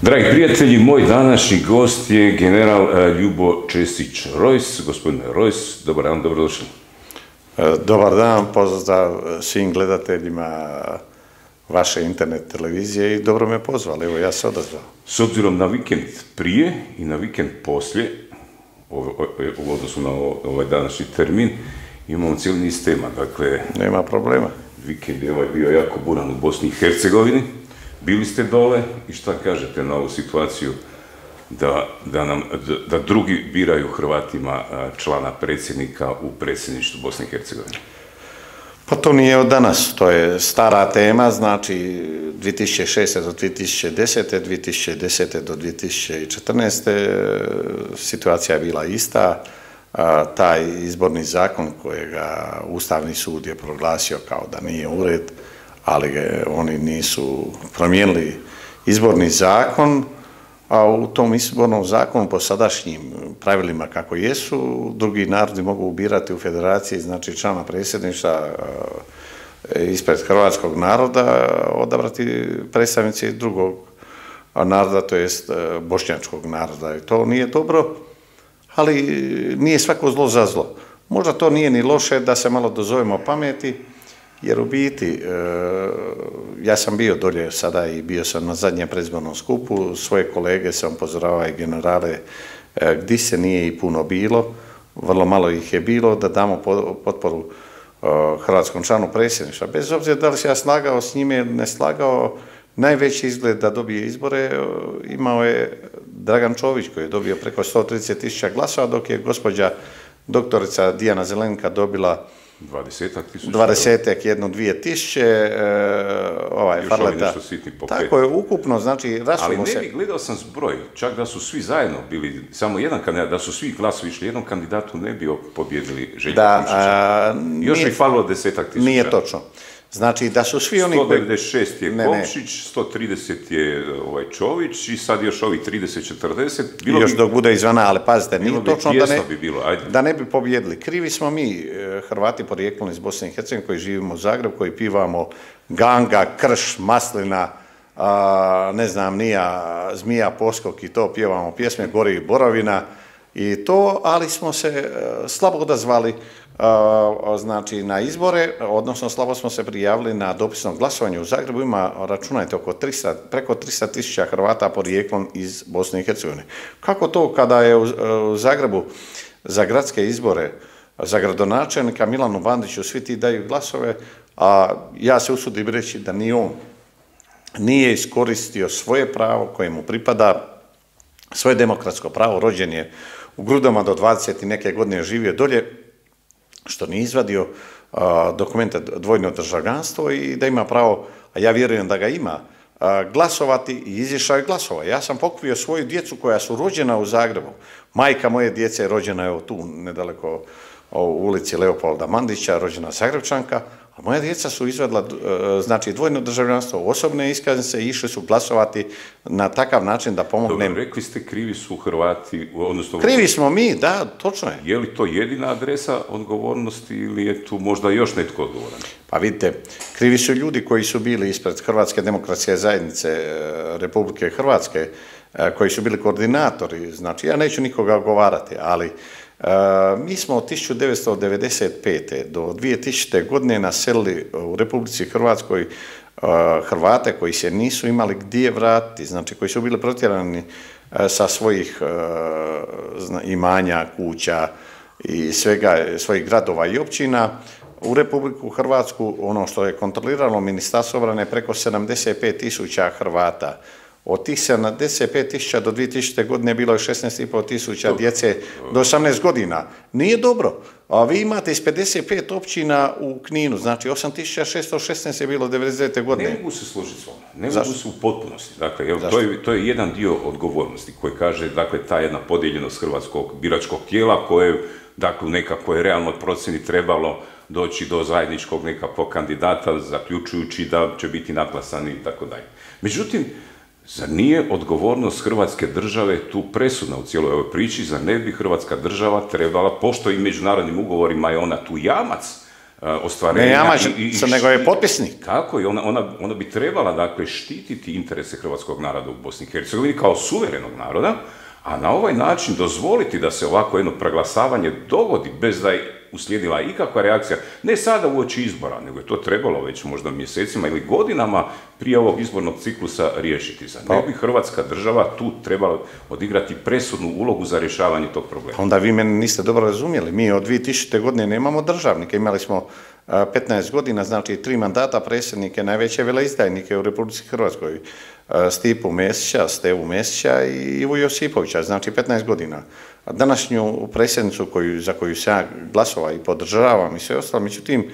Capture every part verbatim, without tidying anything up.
Dragi prijatelji, moj današnji gost je general Ljubo Česić-Rojs. Gospodine Rojs, dobar dan, dobrodošli. Dobar dan, pozdrav svim gledateljima vaše internet televizije i dobro me pozvali, evo ja se odazvao. S obzirom na vikend prije i na vikend poslije, u odnosu na ovaj današnji termin, imamo cijeli niz tema, dakle... Nema problema. Vikend je ovaj bio jako buran u Bosni i Hercegovini. Bili ste dole i šta kažete na ovu situaciju da, da, nam, da drugi biraju Hrvatima člana predsjednika u predsjedništvu Bosne i Hercegovine? Pa to nije od danas, to je stara tema, znači dvije tisuće šeste. do dvije tisuće desete. dvije tisuće desete. do dvije tisuće četrnaeste. situacija je bila ista. Taj izborni zakon kojega Ustavni sud je proglasio kao da nije u red, ali oni nisu promijenili izborni zakon, a u tom izbornom zakonu po sadašnjim pravilima kako jesu, drugi narodi mogu birati u federaciji, znači člana predsjedništva ispred hrvatskog naroda, odabrati predstavnici drugog naroda, to jest bošnjačkog naroda. I to nije dobro, ali nije svako zlo za zlo. Možda to nije ni loše da se malo dozovemo pameti, jer u biti, ja sam bio dolje sada i bio sam na zadnjem predizbornom skupu, svoje kolege sam upozoravao i generale gdje se nije i puno bilo, vrlo malo ih je bilo, da damo potporu hrvatskom članu predsjedništva. Bez obzira da li se ja slagao s njime ili ne slagao, najveći izgled da dobije izbore imao je Dragan Čović koji je dobio preko sto trideset tisuća glasova, dok je gospođa doktorica Dijana Zelenka dobila dvadesetak tisuća. Dvadesetak, jedno, dvije tisuće, ovaj, Farleta. Tako je, ukupno, znači, rasujemo se. Ali ne bi, gledao sam zbroj, čak da su svi zajedno bili, samo jedan kandidat, da su svi glasovi išli jednom kandidatu, ne bi pobjedili Željka Komšića. Još bi falilo desetak tisuća. Nije točno. Znači, da su svi oni... sto devedeset šest je Komšić, sto trideset je Čović i sad još ovi trideset četrdeset. Još dok bude izvana, ali pazite, nije točno da ne bi pobjedili. Krivi smo mi, Hrvati porijeklom iz Bosne i Hercegovine, koji živimo u Zagrebu, koji pivamo Ganga, Krš, Maslina, ne znam, nija, Zmija, Poskok i to, pjevamo pjesme, Gori Borovina i to, ali smo se slabo odazvali znači na izbore, odnosno slabo smo se prijavili na dopisno glasovanje u Zagrebu. Ima, računajte, oko tristo, preko tristo tisuća Hrvata porijeklom iz Bosne i Hercegovine. Kako to kada je u Zagrebu za gradske izbore, za gradonačelnika Milanu Bandiću svi ti daju glasove, a ja se usudim reći da ni on nije iskoristio svoje pravo koje mu pripada, svoje demokratsko pravo, rođen je u Grudama do dvadeset i neke godine, živio dolje, što nije izvadio dokumente dvojno državljanstvo i da ima pravo, a ja vjerujem da ga ima, glasovati i izišao je glasova. Ja sam pokupio svoju djecu koja su rođena u Zagrebu. Majka moje djece je rođena evo tu, nedaleko u ulici Leopolda Mandića, rođena Zagrebčanka, a moja djeca su izvadila znači dvojno državljanstvo, osobne iskaznice i išli su glasovati na takav način da pomognem. Dobro, rekli ste krivi su Hrvati, odnosno... Krivi smo mi, da, točno je. Je li to jedina adresa odgovornosti ili je tu možda još netko odgovoran? Pa vidite, krivi su ljudi koji su bili ispred Hrvatske demokratske zajednice Republike Hrvatske, koji su bili koordinatori, znači ja neću nikoga ogovarati, ali mi smo od tisuću devetsto devedeset pete do dvije tisućite. godine naselili u Republici Hrvatskoj Hrvate koji se nisu imali gdje vratiti, znači koji su bili protjerani sa svojih imanja, kuća i svega, svojih gradova i općina u Republiku Hrvatsku, ono što je kontroliralo Ministarstvo obrane, preko sedamdeset pet tisuća Hrvata. Od tih sedamdeset pet tisuća do dvije tisućite. godine bilo je šesnaest i pol tisuća djece do osamnaest godina. Nije dobro. A vi imate iz pedeset pet općina u Kninu, znači osam tisuća šesto šesnaest je bilo devedeset devete. godine. Ne mogu se složiti s vama, ne mogu se u potpunosti. Dakle, evo, to, je, to je jedan dio odgovornosti koji kaže, dakle, ta jedna podijeljenost hrvatskog biračkog tijela koje, dakle, u nekakvoj realnoj procjeni trebalo doći do zajedničkog nekakvog kandidata, zaključujući da će biti naklasani i tako dalje. Međutim, zar nije odgovornost Hrvatske države tu presudna u cijeloj ovoj priči? Zar ne bi Hrvatska država trebala, pošto i međunarodnim ugovorima je ona tu jamac ostvarenja. Ne jamač, nego je potpisnik. Tako je, ona, ona, ona bi trebala, dakle, štititi interese hrvatskog naroda u Bosni i Hercegovini kao suverenog naroda, a na ovaj način dozvoliti da se ovako jedno preglasavanje dogodi bez da je uslijedila ikakva reakcija, ne sada uoči izbora, nego je to trebalo već možda mjesecima ili godinama prije ovog izbornog ciklusa riješiti. Za ne bi Hrvatska država tu trebala odigrati presudnu ulogu za rješavanje tog problema. Onda vi mene niste dobro razumjeli. Mi od dvije tisućite. godine nemamo državnike. Imali smo petnaest godina, znači tri mandata predsjednike, najveće veleizdajnike u Republici Hrvatskoj. Stipu Mesića, Stevu Mesića i Ivu Josipovića, znači petnaest godina. Današnju predsjednicu koju, za koju se ja glasova i podržavam i sve ostalo, međutim,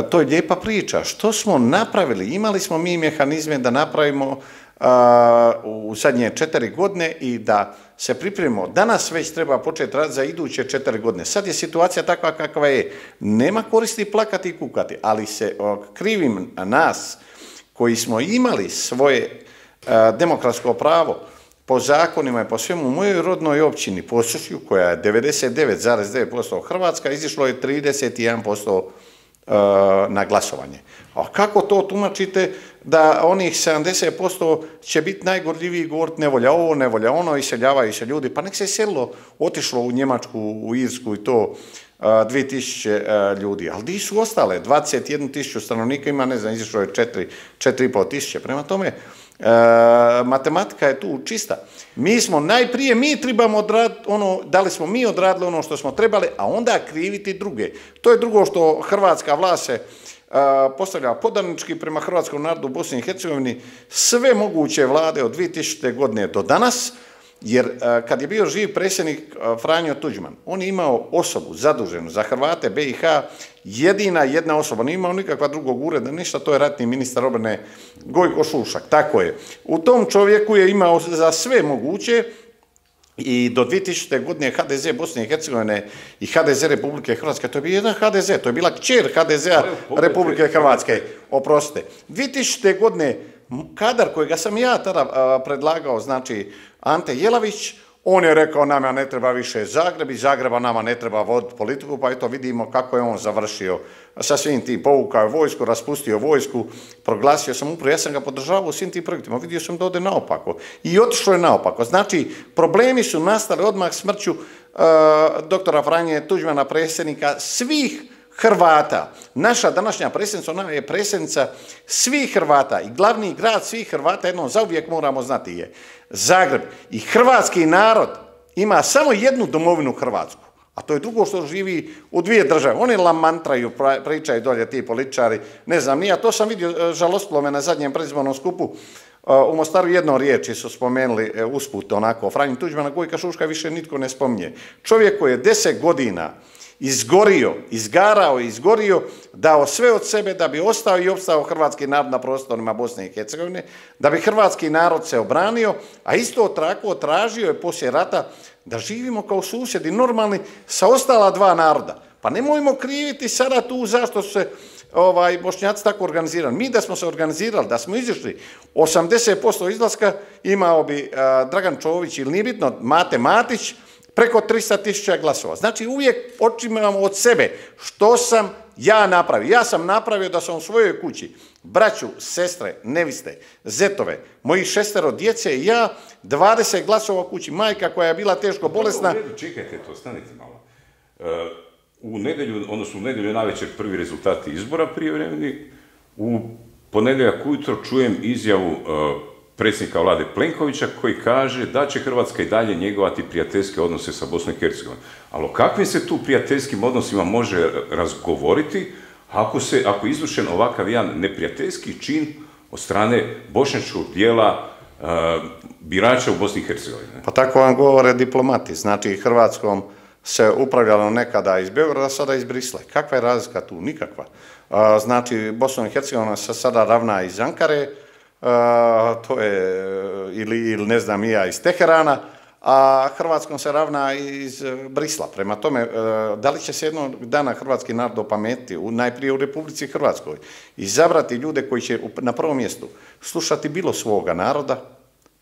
to je lijepa priča. Što smo napravili? Imali smo mi mehanizme da napravimo a, u zadnje četiri godine i da se pripremimo. Danas već treba početi raditi za iduće četiri godine. Sad je situacija takva kakva je. Nema koristi plakati i kukati, ali se o, krivim nas koji smo imali svoje a, demokratsko pravo po zakonima i po svemu u mojoj rodnoj općini Posušju, koja je devedeset devet zarez devet posto Hrvatska, izišlo je trideset jedan posto na glasovanje. A kako to tumačite da onih sedamdeset posto će biti najgorljiviji govoriti nevolja ovo, nevolja ono, iseljavaju se ljudi, pa nek se iselilo, otišlo u Njemačku, u Irsku i to dvije tisuće ljudi, ali di su ostale? dvadeset jednu tisuću stanovnika ima, ne znam, izišlo je četiri i pol tisuće. Prema tome, E, matematika je tu čista. Mi smo najprije, mi trebamo odraditi ono, da li smo mi odradili ono što smo trebali, a onda kriviti druge. To je drugo što hrvatska vlast se a, postavlja podanički prema hrvatskom narodu u Bosni i Hercegovini, sve moguće vlade od dvije tisućite. godine do danas, jer a, kad je bio živ predsjednik a, Franjo Tuđman, on je imao osobu zaduženu za Hrvate B i H, jedina jedna osoba, nije imao nikakva drugog ureda, ništa, to je ratni ministar obrane Gojko Šušak, tako je. U tom čovjeku je imao za sve moguće i do dvije tisućite. godine H D Z Bosne i Hercegovine i H D Z Republike Hrvatske, to je bio jedan H D Z, to je bila kćer H D Z-a Republike Hrvatske, oprostite. dvije tisućite. godine kadar kojega sam ja tada predlagao, znači Ante Jelavić, on je rekao nama ne treba više Zagreb, iz Zagreba nama ne treba voditi politiku, pa eto vidimo kako je on završio sa svim tim, povukao je vojsku, raspustio vojsku, proglasio sam upravo, ja sam ga podržavao u svim tim projektima, vidio sam da ode naopako i otišlo je naopako. Znači, problemi su nastali odmah smrću uh, doktora Franje Tuđmana, predsjednika svih Hrvata. Naša današnja predsjednica, ona je predsjednica svih Hrvata i glavni grad svih Hrvata, jednom zauvijek moramo znati, je Zagreb. I hrvatski narod ima samo jednu domovinu Hrvatsku, a to je drugo što živi u dvije države. Oni lamantraju, pričaju dolje ti političari, ne znam, nije, to sam vidio, žalostilo me na zadnjem predizbornom skupu, u Mostaru jednom riječi su spomenuli usput onako, Franju Tuđmana, Gojka Šuška više nitko ne spominje. Čovjek koji je deset godina izgorio, izgarao i izgorio, dao sve od sebe da bi ostao i opstao hrvatski narod na prostorima Bosne i Hercegovine, da bi hrvatski narod se obranio, a isto tako tražio je poslije rata da živimo kao susjedi normalni sa ostala dva naroda. Pa nemojmo kriviti sada tu zašto su se ovaj, Bošnjaci tako organizirali. Mi da smo se organizirali, da smo izišli osamdeset posto izlaska, imao bi a, Dragan Čović ili nije bitno, Mate Matić, preko tristo tisuća glasova. Znači uvijek počinjemo od sebe. Što sam ja napravio? Ja sam napravio da sam u svojoj kući braću, sestre, neviste, zetove, mojih šestero djece i ja, dvadeset glasova u kući, majka koja je bila teško bolesna. Čekajte to, stanite malo. U nedjelju, odnosno u nedjelju navečer prvi rezultati izbora prijevremeni, u ponedjeljak ujutro čujem izjavu predsjednika vlade Plenkovića koji kaže da će Hrvatska i dalje njegovati prijateljske odnose sa Bosnom i Hercegovinom. Ali o kakvim se tu prijateljskim odnosima može razgovoriti ako se, ako je izvršen ovakav jedan neprijateljski čin od strane bošnjačkog dijela uh, birača u Bosni i Hercegovini? Pa tako vam govore diplomati. Znači, Hrvatskom se upravljalo nekada iz Beograda, sada iz Brisla. Kakva je razlika tu? Nikakva. Uh, znači, Bosna i Hercegovina se sada ravna iz Ankare, Uh, to je ili, ili ne znam ja iz Teherana, a Hrvatskom se ravna iz Brisla. Prema tome, uh, da li će se jednog dana hrvatski narod opametiti, u, najprije u Republici Hrvatskoj, izabrati ljude koji će na prvom mjestu slušati bilo svoga naroda,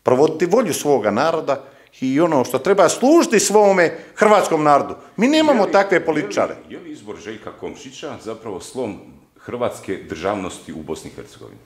provoditi volju svoga naroda i ono što treba služiti svome hrvatskom narodu. Mi nemamo li, takve političare. Je li, je li izbor Željka Komšića zapravo slom hrvatske državnosti u Bosni i Hercegovini?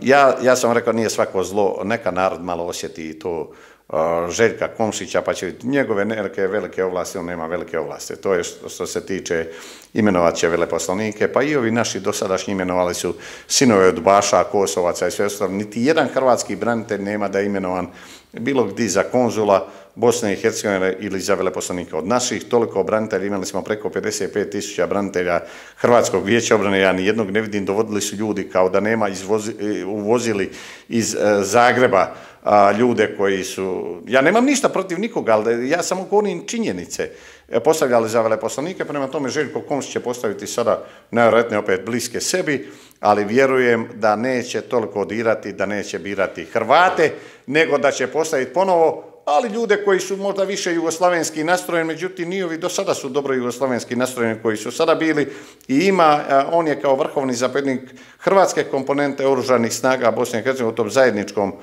Ja, ja sam rekao, nije svako zlo, neka narod malo osjeti to uh, Željka Komšića, pa će njegove neke velike ovlasti, on nema velike ovlasti. To je što, što se tiče imenovat će veleposlanike, pa i ovi naši dosadašnji imenovali su sinove od Baša, Kosovaca i sve ostalo. Niti jedan hrvatski branitelj nema da je imenovan bilo gdje za konzula Bosne i Hercegovine ili za veleposlanika. Od naših toliko branitelja, imali smo preko pedeset pet tisuća branitelja Hrvatskog vijeća obrane, ja ni jednog ne vidim, dovodili su ljudi kao da nema, izvozi, uvozili iz e, Zagreba a, ljude koji su, ja nemam ništa protiv nikoga, ali ja samo govorim činjenice, e, postavljali za veleposlanike, prema tome Željko Komšić će postaviti sada najvjerojatnije opet bliske sebi, ali vjerujem da neće toliko dirati, da neće birati Hrvate, nego da će postaviti ponovo, ali ljude koji su možda više jugoslavenski nastrojeni, međutim ni ovi do sada su dobro jugoslavenski nastrojeni koji su sada bili i ima, on je kao vrhovni zapovjednik hrvatske komponente oružanih snaga Bosne i Hercegovine u tom zajedničkom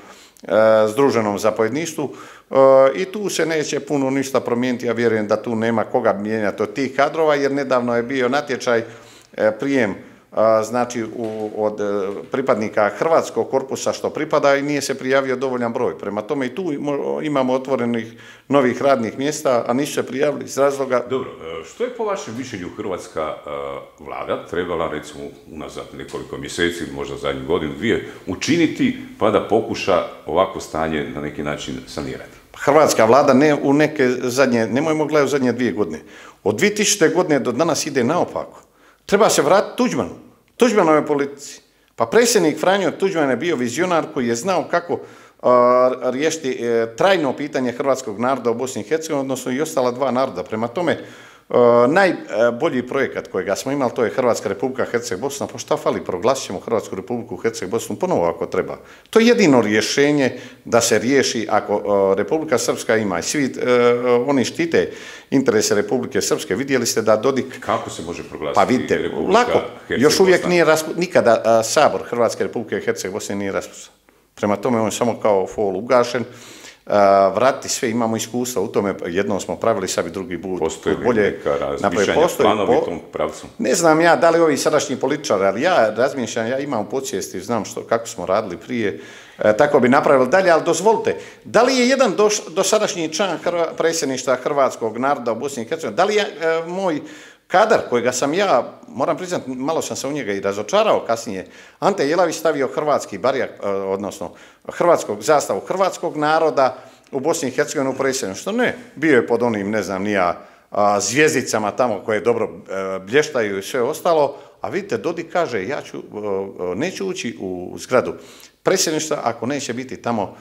e, združenom zapovjedništvu e, i tu se neće puno ništa promijeniti, ja vjerujem da tu nema koga mijenjati od tih kadrova, jer nedavno je bio natječaj e, prijem znači u, od pripadnika hrvatskog korpusa što pripada i nije se prijavio dovoljan broj. Prema tome i tu imamo otvorenih novih radnih mjesta, a nisu se prijavili iz razloga... Dobro, što je po vašem mišljenju hrvatska uh, vlada trebala, recimo unazad nekoliko mjeseci ili možda zadnju godinu, dvije, učiniti pa da pokuša ovako stanje na neki način sanirati? Hrvatska vlada ne u neke zadnje, nemojmo gledati u zadnje dvije godine. Od dvije tisućite. godine do danas ide naopako. Treba se vratiti Tuđmanu, Tuđmanove politici. Pa predsjednik Franjo Tuđman je bio vizionar koji je znao kako uh, riješiti uh, trajno pitanje hrvatskog naroda u Bosni i Hercegovini, odnosno i ostala dva naroda. Prema tome, uh, najbolji projekat kojega smo imali, to je Hrvatska Republika Herceg-Bosna, pa šta fali, proglasit ćemo Hrvatsku Republiku Herceg-Bosnu ponovo ako treba. To je jedino rješenje da se riješi ako uh, Republika Srpska ima i svi uh, oni štite interese Republike Srpske. Vidjeli ste da Dodik... Kako se može proglasiti? Pa vidite, lako, još uvijek nije raspušten, nikada a, Sabor Hrvatske Republike Herceg-Bosne nije raspušten. Prema tome on je samo kao fol ugašen. A, vratiti sve, imamo iskustva u tome, jednom smo pravili, sad i drugi put. Postoji li neka razmišljanja, planovi u tom pravcu? Ne znam ja da li ovi sadašnji političari, ali ja razmišljam, ja imam podsvijesti, znam što, kako smo radili prije, e, tako bi napravili dalje, ali dozvolite, da li je jedan do, dosadašnji član Hrva, predsjedništva hrvatskog naroda u Bosni i Hercegovini, da li je e, moj kadar kojega sam ja, moram priznati, malo sam se u njega i razočarao kasnije, Ante Jelavić stavio hrvatski barjak, odnosno hrvatskog zastavu hrvatskog naroda u Bosni i Hercegovini u predsjedništvu. Ne, bio je pod onim, ne znam, nija zvijezdicama tamo koje dobro blještaju i sve ostalo, a vidite, Dodik kaže, ja ću, neću ući u zgradu predsjedništva ako neće biti tamo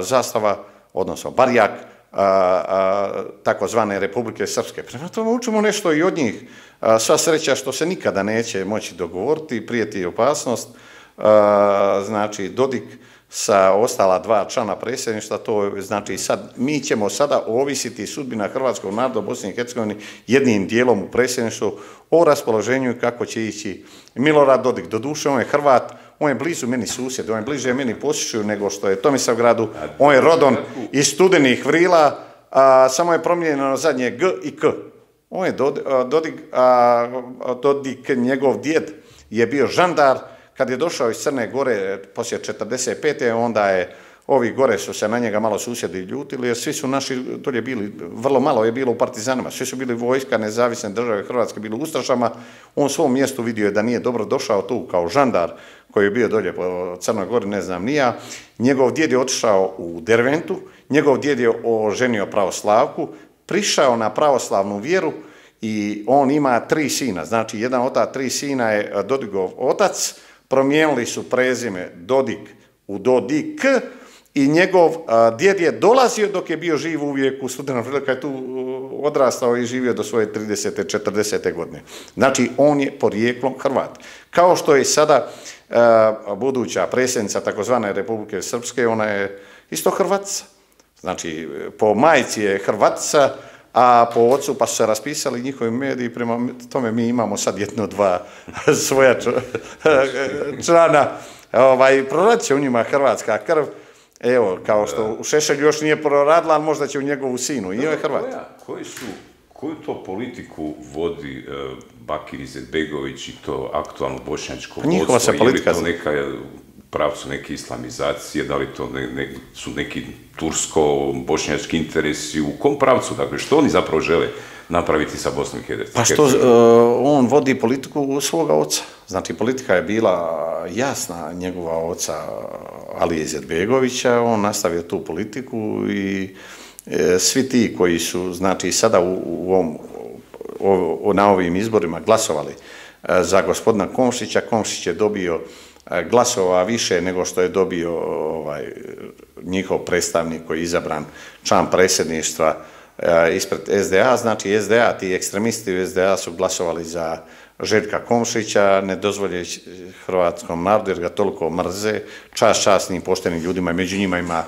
zastava, odnosno barjak, takozvane Republike Srpske. Prema tome učimo nešto i od njih. A, sva sreća što se nikada neće moći dogovoriti, prijeti opasnost. A, znači, Dodik sa ostala dva člana predsjedništva, to znači sad, mi ćemo sada ovisiti sudbina hrvatskog naroda u Bosni i Hercegovini jednim dijelom u predsjedništvu o raspoloženju i kako će ići Milorad Dodik. Doduše, on je Hrvat, on je blizu meni susjed, on je bliže meni Posjećuju nego što je Tomislavgradu, on je rodom iz Studenih Vrila, a, samo je promijenjeno zadnje G i K. On je Dodik, a, Dodik, njegov djed je bio žandar, kad je došao iz Crne Gore poslije četrdeset pete onda je, ovi gore su se na njega malo susjedi ljutili, jer svi su naši dolje bili, vrlo malo je bilo u partizanima, svi su bili vojska nezavisne države Hrvatske, bili u ustašama, on u svom mjestu vidio je da nije dobro došao tu kao žandar koji je bio dolje po Crnoj Gori, ne znam nija, njegov djed je otišao u Derventu, njegov djed je oženio pravoslavku, prišao na pravoslavnu vjeru i on ima tri sina, znači jedan od ta tri sina je Dodigov otac, promijenili su prezime Dodik u Dodik i njegov a, djed je dolazio dok je bio živ uvijek u Studenom Vrlu, kad je tu odrastao i živio do svoje tridesete četrdesete godine. Znači, on je porijeklom Hrvat. Kao što je sada a, buduća predsjednica takozvane Republike Srpske, ona je isto Hrvatica. Znači, po majci je Hrvatica, a po ocu pa su se raspisali njihovi mediji, prema tome mi imamo sad jedno, dva svoja člana, ovaj, proradit će u njima hrvatska krv Evo, kao što u Šešelju još nije proradila, ali možda će u njegovu sinu. I je Hrvat. Koji su, koju to politiku vodi uh, Bakir Izetbegović i to aktualno bošnjačko vodstvo? Njihova se politika... Je li to neka pravcu neke islamizacije, da li to ne, ne, su neki tursko-bošnjački interesi, u kom pravcu? Dakle, što oni zapravo žele napraviti sa Bosnom i Hercegovinom? Pa što uh, on vodi politiku svoga oca. Znači, politika je bila jasna njegova oca Alije Izetbegovića, on nastavio tu politiku i e, svi ti koji su, znači, sada u, u ovom, o, na ovim izborima glasovali e, za gospodina Komšića, Komšić je dobio e, glasova više nego što je dobio ovaj, njihov predstavnik koji je izabran član predsjedništva ispred es de a, znači es de a, ti ekstremisti u es de a su glasovali za Željka Komšića, ne dozvoljeći hrvatskom narodu jer ga toliko mrze, čast časnim poštenim ljudima, među njima ima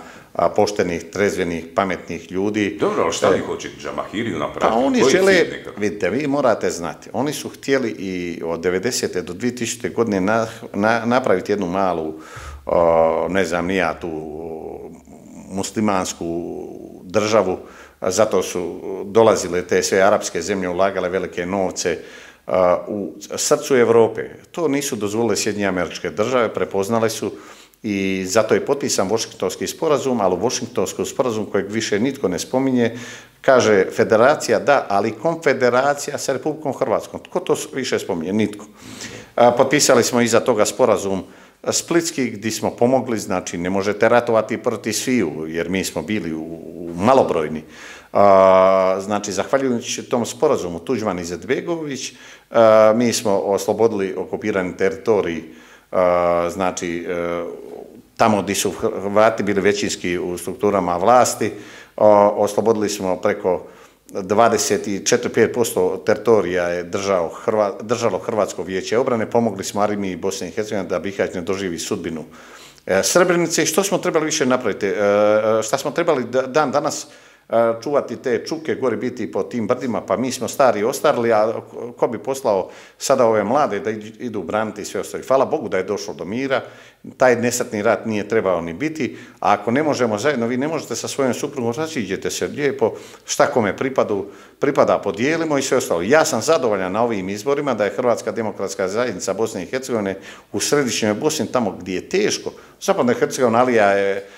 poštenih, trezvenih, pametnih ljudi. Dobro, ali šta li hoće Džamahiriju napraviti? Pa oni žele, vidite, vi morate znati, oni su htjeli i od devedesete do dvije tisućite. godine na, na, napraviti jednu malu, o, ne znam, nija tu muslimansku državu, zato su dolazile te sve arapske zemlje, ulagale velike novce uh, u srcu Evrope. To nisu dozvolile Sjedinjene Američke Države, prepoznale su i zato je potpisan Washingtonski sporazum, ali u Washingtonskom sporazum kojeg više nitko ne spominje, kaže federacija da, ali konfederacija sa Republikom Hrvatskom. Tko to više spominje? Nitko. Uh, potpisali smo iza toga sporazum Splitski, gdje smo pomogli, znači ne možete ratovati protiv sviju, jer mi smo bili u, u malobrojni. A, znači, zahvaljujući tom sporazumu Tuđman i Izetbegović, a, mi smo oslobodili okupirani teritorij, a, znači, a, tamo gdje su Hrvati bili većinski u strukturama vlasti, a, oslobodili smo preko dvadeset četiri do pet posto teritorija je držao Hrva, držalo Hrvatsko vijeće obrane, pomogli smo Armiji Bosne i Hercegovine da Bihać ne doživi sudbinu e, Srebrenice. Što smo trebali više napraviti? E, šta smo trebali dan danas e, čuvati te čuke, gori biti po tim brdima, pa mi smo stari ostarili, a ko bi poslao sada ove mlade da idu braniti sve ostali. Hvala Bogu da je došlo do mira, taj nesretni rat nije trebao ni biti, a ako ne možemo zajedno, vi ne možete sa svojom suprugom, raziđete se lijepo, šta kome pripadu, pripada podijelimo i sve ostalo. Ja sam zadovoljan na ovim izborima da je Hrvatska demokratska zajednica Bosne i Hercegovine u središnjoj Bosni, tamo gdje je teško. Zapadna Hercegovina, Alija je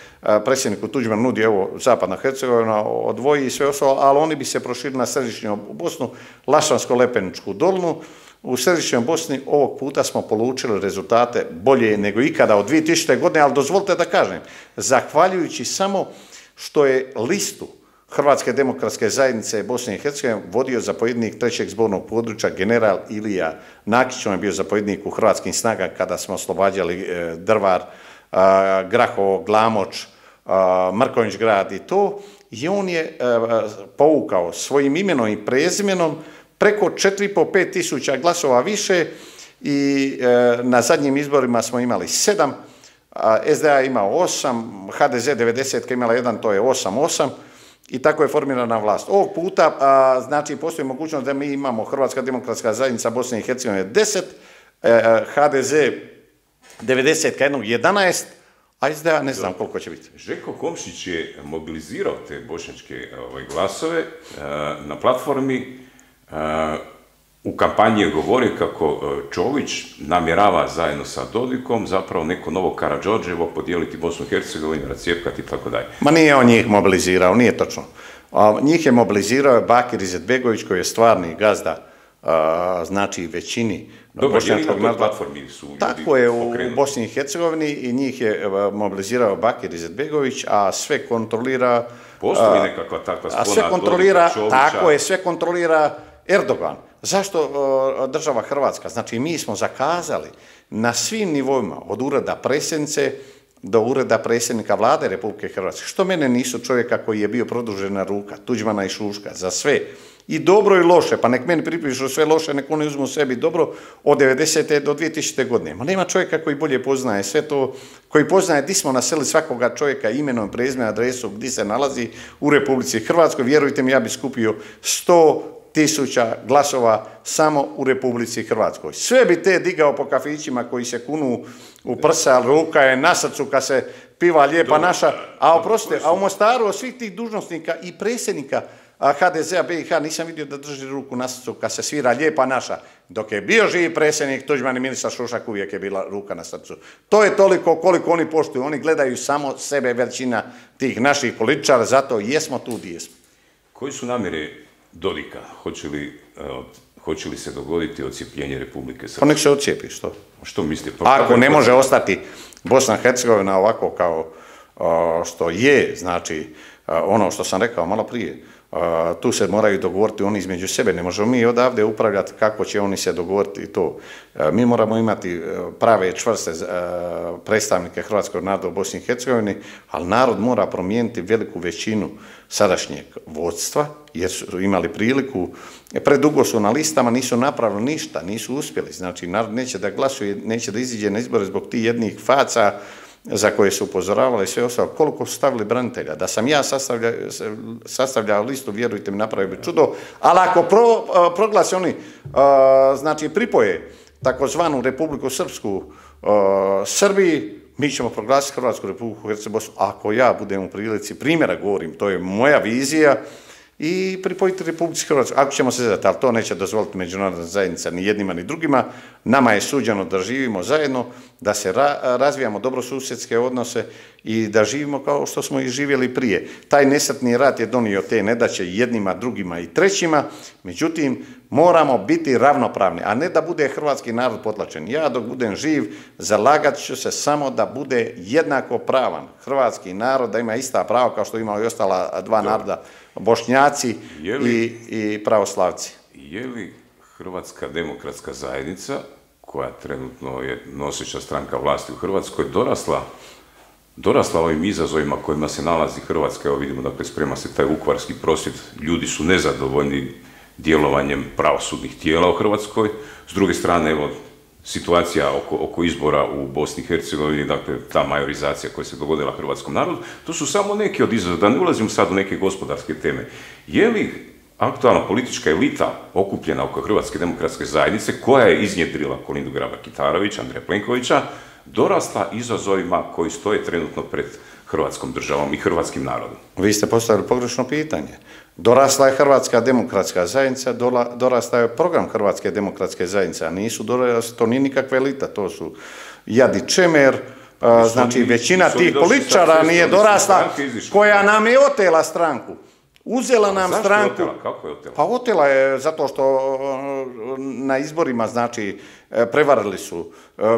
predsjedniku Tuđman nudi, evo, Zapadna Hercegovina odvoji i sve ostalo, ali oni bi se proširili na središnju Bosnu, Lašvansko-Lepeničku dolnu. U središnjoj Bosni ovog puta smo polučili rezultate bolje nego ikada od dvije tisućite. godine, ali dozvolite da kažem, zahvaljujući samo što je listu Hrvatske demokratske zajednice Bosne i Hercegovine vodio zapovjednik trećeg zbornog područja general Ilija Nakić, on je bio zapovjednik u Hrvatskim snagama kada smo oslobađali Drvar, Grahovo, Glamoč, Mrkonjić grad i to, i on je povukao svojim imenom i prezimenom preko četiri i po do pet tisuća glasova više i e, na zadnjim izborima smo imali sedam, a es de a imao osam, ha de ze devedeset imala jedan, to je osam osam i tako je formirana vlast. Ovog puta, a, znači, postoji mogućnost da mi imamo Hrvatska demokratska zajednica Bosne i Hercegovine deset, e, ha de ze devedeset jednog jedanaest, a es de a ne znam koliko će biti. Željko Komšić je mobilizirao te bošnjačke ovaj, glasove a, na platformi. Uh, u kampanji je govorio kako uh, Čović namjerava zajedno sa Dodikom zapravo neko novo Karađorđevo podijeliti Bosnu i Hercegovinu, racijepkati i tako dalje. Ma nije on njih mobilizirao, nije točno. A, njih je mobilizirao Bakir Izetbegović koji je stvarni gazda, a, znači većini bošnjačkog naroda. Platformi su ljudi tako je pokrenuti. U Bosni i Hercegovini i njih je mobilizirao Bakir Izetbegović, a sve kontrolira... Postoji nekakva takva spona a sve kontrolira, Dodika, Čovića. Tako je, sve kontrolira Erdogan. Zašto o, država Hrvatska? Znači, mi smo zakazali na svim nivoima, od ureda predsjednice do ureda predsjednika vlade Republike Hrvatske. Što mene nisu čovjeka koji je bio produžena ruka, Tuđmana i Šuška, za sve. I dobro i loše, pa nek meni pripišu sve loše, nek oni uzmu sebi dobro od devedesete do dvije tisućite. godine. Ma nema čovjeka koji bolje poznaje sve to, koji poznaje di smo naseli svakoga čovjeka imenom, prezimenom, adresom, gdje se nalazi u Republici Hrvatskoj. Vjerujte mi, ja bi skupio sto tisuća glasova samo u Republici Hrvatskoj. Sve bi te digao po kafićima koji se kunu u prsa, ali ruka je na srcu kad se piva Lijepa naša, a oprostite, a u Mostaru od svih tih dužnosnika i predsjednika ha de zea be i ha nisam vidio da drži ruku na srcu kad se svira Lijepa naša. Dok je bio živi predsjednik Tuđman i ministar Šošak uvijek je bila ruka na srcu. To je toliko koliko oni poštuju. Oni gledaju samo sebe, većina tih naših političara, zato jesmo tu gdje jesmo. Koji su namjere Dodika? Hoće li, uh, hoće li se dogoditi odcijepljenje Republike Srpske? Pa nek se odcijepi, što? Što mislite? Pa ako ne može ostati Bosna i Hercegovina ovako kao uh, što je, znači uh, ono što sam rekao malo prije, Uh, tu se moraju dogovoriti oni između sebe, ne možemo mi odavde upravljati kako će oni se dogovoriti i to. Uh, mi moramo imati uh, prave čvrste uh, predstavnike hrvatskog naroda u Bosni i Hercegovini, ali narod mora promijeniti veliku većinu sadašnjeg vodstva, jer su imali priliku, predugo su na listama, nisu napravili ništa, nisu uspjeli, znači narod neće da glasuje, neće da iziđe na izbore zbog tih jednih faca za koje su upozoravali sve ostalo, koliko su stavili branitelja. Da sam ja sastavljao, sastavljao listu, vjerujte mi, napravio bi čudo, ali ako pro, proglasi oni, znači pripoje takozvanu Republiku Srpsku Srbiji, mi ćemo proglasiti Hrvatsku Republiku Hercegovinu, ako ja budem u prilici, primjera govorim, to je moja vizija, i pripojiti Republici Hrvatskoj, ako ćemo se zadati, ali to neće dozvoliti međunarodna zajednica ni jednima ni drugima. Nama je suđeno da živimo zajedno, da se ra razvijamo dobrosusjedske odnose i da živimo kao što smo i živjeli prije. Taj nesretni rat je donio te nedaće jednima, drugima i trećima, međutim, moramo biti ravnopravni, a ne da bude hrvatski narod potlačen. Ja dok budem živ, zalagat ću se samo da bude jednako pravan hrvatski narod, da ima ista prava kao što imaju i ostala dva naroda, Bošnjaci i, i pravoslavci. Je li Hrvatska demokratska zajednica, koja trenutno je noseća stranka vlasti u Hrvatskoj, dorasla, dorasla ovim izazovima kojima se nalazi Hrvatska? Evo vidimo, dakle, sprema se taj vukovarski prosvjed, ljudi su nezadovoljni djelovanjem pravosudnih tijela u Hrvatskoj. S druge strane, evo, situacija oko, oko izbora u Bosni i Hercegovini, dakle, ta majorizacija koja se dogodila hrvatskom narodu, to su samo neki od izazova, da ne ulazim sad u neke gospodarske teme. Je li aktualna politička elita okupljena oko Hrvatske demokratske zajednice, koja je iznjedrila Kolindu Grabar-Kitarović, Andreja Plenkovića, dorasla izazovima koji stoje trenutno pred Hrvatskom državom i hrvatskim narodom? Vi ste postavili pogrešno pitanje. Dorasla je Hrvatska demokratska zajednica, dorasla je program Hrvatske demokratske zajednice, a nisu dorasla, to nije nikakva elita, to su Jad i Čemer, znači većina tih političara nije dorasla, koja nam je otela stranku. Uzela nam stranku. Zašto je otela? Kako je otela? Pa otela je zato što na izborima, znači, prevarili su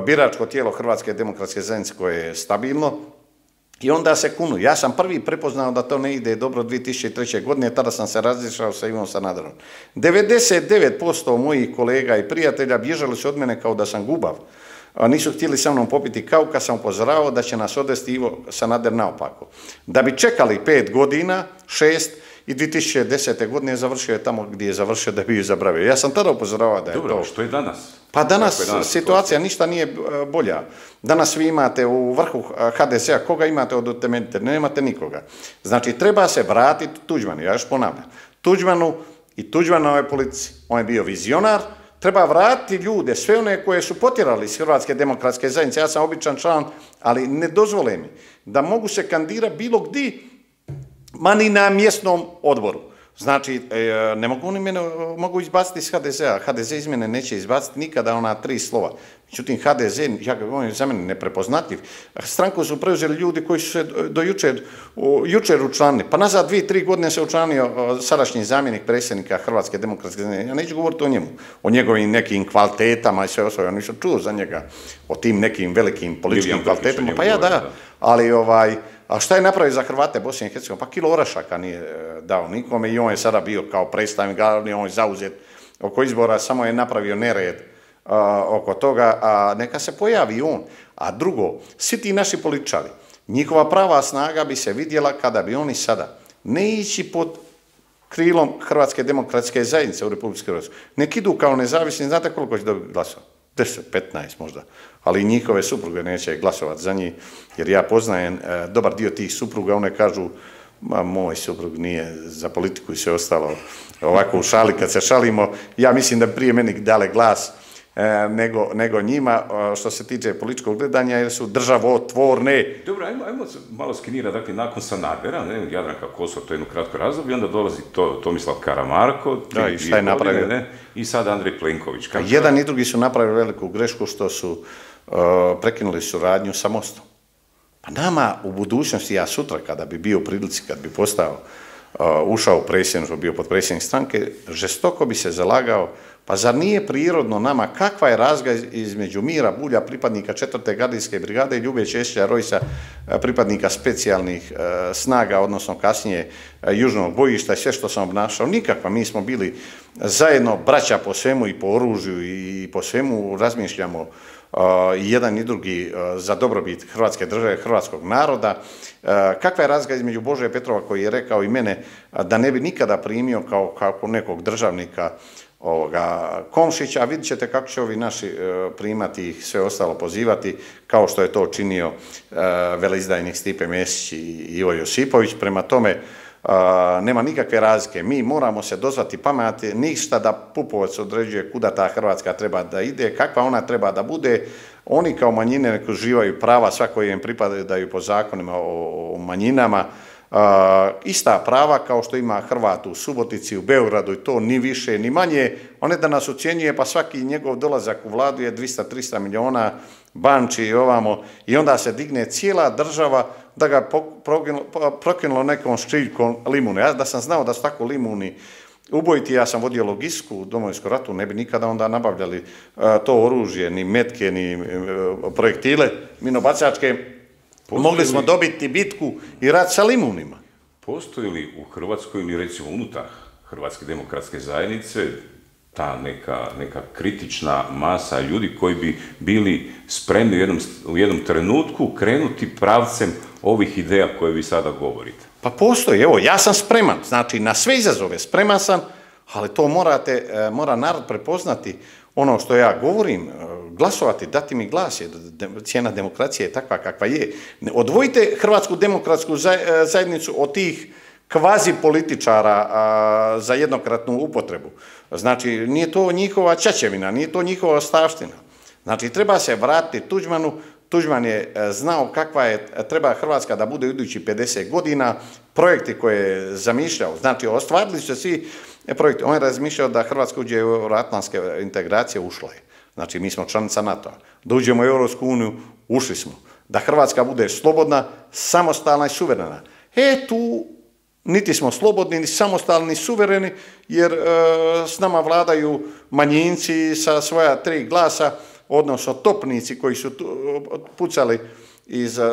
biračko tijelo Hrvatske demokratske zajednice koje je stabilno i onda se kunu. Ja sam prvi prepoznao da to ne ide dobro dvije tisuće treće. godine, tada sam se razišao sa Ivom Sanaderom. devedeset devet posto mojih kolega i prijatelja bježali su od mene kao da sam gubav. Nisu htjeli sa mnom popiti kavu kad sam upozoravao da će nas odvesti Ivo Sanader naopako. Da bi čekali pet godina, šest, i dvije tisuće desete. godine završio je tamo gdje je završio da bi ju zabravio. Ja sam tada upozoravao da je Dobro, to... što je danas? Pa danas, je danas situacija to... ništa nije bolja. Danas vi imate u vrhu ha de zea, koga imate od utemeljitelja? Nemate nikoga. Znači, treba se vratiti Tuđmanu, ja još ponavljam. Tuđmanu i Tuđmanovoj politici. On je bio vizionar, treba vratiti ljude, sve one koje su potjerali iz Hrvatske demokratske zajednice. Ja sam običan član, ali ne dozvole mi da mogu se kandidirati bilo gdje, ma ni na mjesnom odboru. Znači, ne mogu oni mene, mogu izbaciti iz ha de zea. ha de ze iz mene neće izbaciti nikada ona tri slova. Međutim, ha de ze, ja ga govorim, za mene neprepoznatljiv. Stranku su preuzeli ljudi koji su se do jučer, jučer učlanili. Pa nazad dvije, tri godine se učlanio sadašnji zamjenik predsjednika Hrvatske demokratske zajednice. Ja neću govoriti o njemu, o njegovim nekim kvalitetama i sve ostalo. Ja nisam čuo za njega o tim nekim velikim političkim kvalitetama. Pa ja da, ali ovaj... A šta je napravio za Hrvate Bosne i Hercegovine? Pa kilo orašaka nije dao nikome i on je sada bio kao predstavnik, on je zauzet oko izbora, samo je napravio nered uh, oko toga, a neka se pojavi on. A drugo, svi ti naši političari, njihova prava snaga bi se vidjela kada bi oni sada ne ići pod krilom Hrvatske demokratske zajednice u Republici Hrvatskoj. Nek idu kao nezavisni, znate koliko će dobiti glasova? deset, petnaest možda, ali njihove supruge neće glasovati za njih, jer ja poznajem e, dobar dio tih supruga, one kažu, ma moj suprug nije za politiku i sve ostalo, ovako u šali kad se šalimo, ja mislim da prije meni dale glas nego, nego njima što se tiče političkog gledanja, jer su državotvorne. Dobro, ajmo, ajmo malo skenira, dakle, nakon Sanadera, ne, Jadranka Kosor, to je jedno kratko razdoblje, onda dolazi to, Tomislav Karamarko, da, i šta je napravio? Ne, i sad Andrej Plenković. Kako jedan i drugi su napravili veliku grešku što su uh, prekinuli suradnju sa Mostom. Pa nama u budućnosti, ja sutra kada bi bio u prilici, kad bi postao, uh, ušao u predsjedništvo, bio potpredsjednik stranke, žestoko bi se zalagao. Pa zar nije prirodno nama kakva je razlika između Mira Bulja, pripadnika četvrte gardijske brigade, i Ljube Česića Rojsa, pripadnika specijalnih e, snaga, odnosno kasnije e, južnog bojišta i sve što sam obnašao? Nikakva. Mi smo bili zajedno braća po svemu i po oružju i po svemu razmišljamo e, i jedan i drugi e, za dobrobit Hrvatske države, hrvatskog naroda. E, kakva je razlika između Bože Petrova koji je rekao i mene da ne bi nikada primio kao, kao nekog državnika ovoga Komšića, a vidjet ćete kako će ovi naši e, primati ih, sve ostalo pozivati, kao što je to činio e, veleizdajnik Stipe Mesić i Ivo Josipović. Prema tome, e, nema nikakve razlike. Mi moramo se dozvati pameti, ništa da Pupovac određuje kuda ta Hrvatska treba da ide, kakva ona treba da bude. Oni kao manjine nek uživaju prava, svako im pripadaju po zakonima o, o manjinama, Uh, ista prava kao što ima Hrvat u Subotici, u Beogradu, i to ni više ni manje. On je da nas ocjenjuje, pa svaki njegov dolazak u vladu je dvista do trista miliona, banči i ovamo, i onda se digne cijela država da ga prokinulo nekom ščiljkom limune. Ja da sam znao da su tako limuni ubojiti, ja sam vodio logistiku u Domovinskom ratu, ne bi nikada onda nabavljali uh, to oružje, ni metke, ni uh, projektile minobacačke. Mogli smo dobiti bitku i rat sa limunima. Postoji li u Hrvatskoj ili recimo unutar Hrvatske demokratske zajednice ta neka, neka kritična masa ljudi koji bi bili spremni u jednom, u jednom trenutku krenuti pravcem ovih ideja koje vi sada govorite? Pa postoji, evo, ja sam spreman, znači na sve izazove spreman sam, ali to morate, mora narod prepoznati ono što ja govorim, glasovati, dati mi glas, je, cijena demokracije je takva kakva je. Odvojite Hrvatsku demokratsku zajednicu od tih kvazi političara a, za jednokratnu upotrebu. Znači, nije to njihova ćaćevina, nije to njihova ostavština. Znači, treba se vratiti Tuđmanu. Tuđman je znao kakva je, treba Hrvatska da bude u idućih pedeset godina, projekti koje je zamišljao, znači ostvarili su se svi projekti. On je razmišljao da Hrvatska uđe u euroatlantske integracije, ušla je. Znači, mi smo članica NATO-a. Da uđemo u Europsku uniju, ušli smo. Da Hrvatska bude slobodna, samostalna i suverena. E, tu niti smo slobodni, ni samostalni, ni suvereni, jer e, s nama vladaju manjinci sa svoja tri glasa, odnosno topnici koji su pucali iz uh,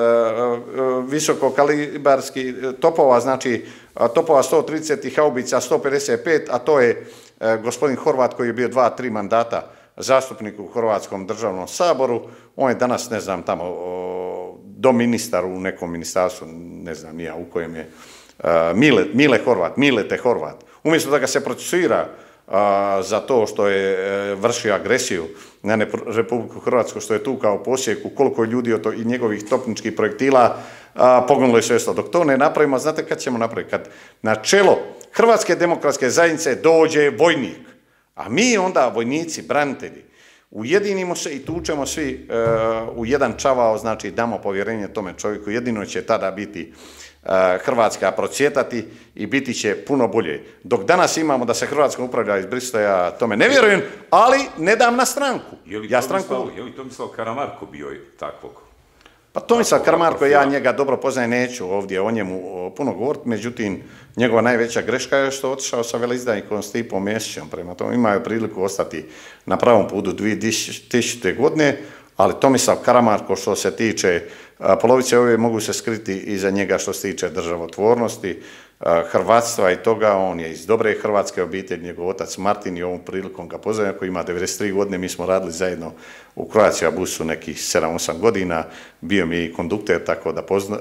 visokokalibarskih topova, znači topova sto trideset i haubica sto pedeset pet, a to je uh, gospodin Horvat koji je bio dva, tri mandata zastupnik u Hrvatskom državnom saboru. On je danas, ne znam, tamo uh, doministar u nekom ministarstvu, ne znam nija u kojem je, uh, Mile, Mile Horvat, Milete Horvat. Umjesto da ga se procesuira a, za to što je e, vršio agresiju na Republiku Hrvatsku, što je tu kao posjeku, koliko je ljudi to, i njegovih topničkih projektila a, poginulo je sve. Dok to ne napravimo, znate kad ćemo napraviti? Kad na čelo Hrvatske demokratske zajednice dođe vojnik, a mi onda vojnici, branitelji, ujedinimo se i tučemo svi e, u jedan čavao, znači damo povjerenje tome čovjeku, jedino će tada biti Hrvatska procvjetati i biti će puno bolje. Dok danas imamo da se Hrvatska upravlja iz Brisela, ja tome ne vjerujem, ali ne dam na stranku. Je li ja Tomislav, stranku... je li Tomislav Karamarko bio takvog? Pa Tomislav Karamarko, ja njega dobro poznajem, neću ovdje o njemu puno govoriti, međutim, njegova najveća greška je što je otišao sa veleizdajnikom Stipom Mesićem, prema tome imaju priliku ostati na pravom putu dvije tisućite. godine, ali Tomislav Karamarko što se tiče polovice ove mogu se skriti iza njega što se tiče državotvornosti, hrvatstva i toga. On je iz dobre hrvatske obitelji, njegov otac Martin i ovom prilikom ga pozdravljam, koji ima devedeset tri godine, mi smo radili zajedno u Croatia busu nekih sedam osam godina, bio mi i kondukter, tako da pozna,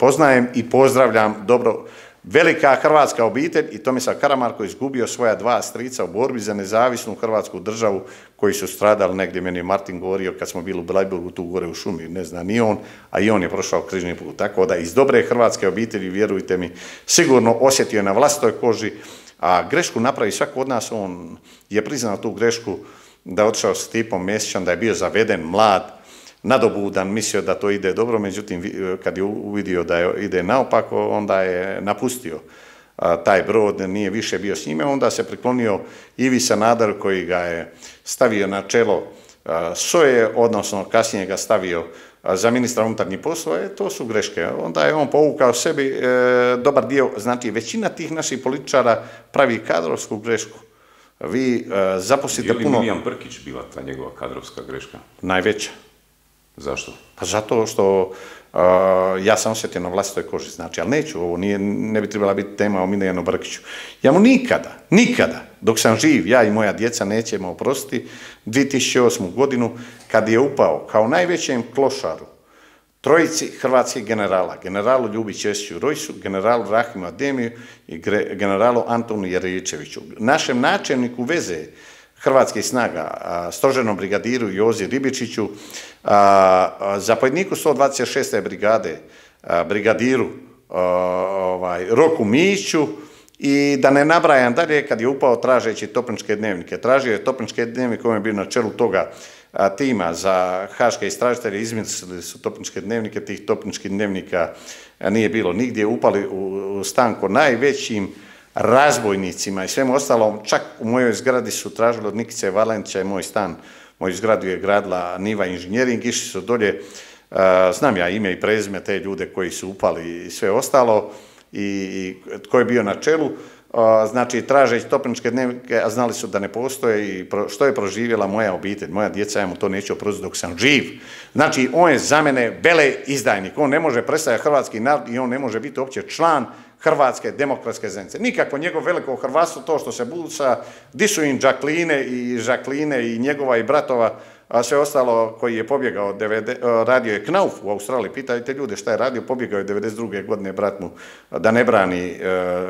poznajem i pozdravljam dobro. Velika hrvatska obitelj i Tomislav Karamarko izgubio svoja dva strica u borbi za nezavisnu hrvatsku državu koji su stradali negdje, meni je Martin govorio kad smo bili u Blajburgu tu gore u šumi, ne zna ni on, a i on je prošao križni put. Tako da iz dobre hrvatske obitelji, vjerujte mi, sigurno osjetio je na vlastitoj koži, a grešku napravi svako od nas, on je priznao tu grešku da je otišao s Stipom Mesićem, da je bio zaveden, mlad, nadobudan, mislio da to ide dobro, međutim, kad je uvidio da je, ide naopako, onda je napustio taj brod, nije više bio s njime, onda se priklonio Ivi Sanaderu koji ga je stavio na čelo S O E, odnosno kasnije ga stavio za ministra unutarnjih poslova, e, to su greške. Onda je on povukao sebi e, dobar dio, znači većina tih naših političara pravi kadrovsku grešku. Vi e, zaposlite puno... Je li Milijan Brkić bila ta njegova kadrovska greška? Najveća. Zašto? Pa zato što uh, ja sam osjetio na vlastitoj koži, znači, ali neću, ovo nije, ne bi trebala biti tema o Milijanu Brkiću. Ja mu nikada, nikada, dok sam živ, ja i moja djeca nećemo oprostiti, dvije tisuće osmu godinu, kad je upao kao najvećem klošaru trojici hrvatskih generala, generalu Ljubi Ćesiću Rojsu, generalu Rahimu Ademiju i generalu Antonu Jeričeviću, našem načelniku veze hrvatskih snaga, stožernom brigadiru Jozi Ribičiću, zapovjedniku sto dvadeset šeste brigade, brigadiru ovaj, Roku Miću i da ne nabrajam dalje kad je upao tražeći topničke dnevnike. Tražio je topničke dnevnike koji je bio na čelu toga tima za haške istražitelje, izmislili su topničke dnevnike, tih topničkih dnevnika nije bilo nigdje, upali u stan ko najvećim razbojnicima i svemu ostalom, čak u mojoj zgradi su tražili od Nikice Valentića i moj stan, moju zgradu je gradila Niva Inženjering, išli su dolje, znam ja ime i prezime te ljude koji su upali i sve ostalo i tko je bio na čelu, znači tražeći topničke dnevnike, a znali su da ne postoje i što je proživjela moja obitelj, moja djeca, ja mu to neću oprostiti dok sam živ. Znači, on je za mene vele izdajnik, on ne može predstavljati hrvatski narod i on ne može biti uopće član Hrvatske demokratske zajednice. Nikako njegovo veliko hrvatstvo, to što se busa, di su im Žakline i Žakline i njegova i bratova, a sve ostalo koji je pobjegao, radio je Knauf u Australiji, pitajte ljude šta je radio, pobjegao je devedeset druge godine brat mu da ne brani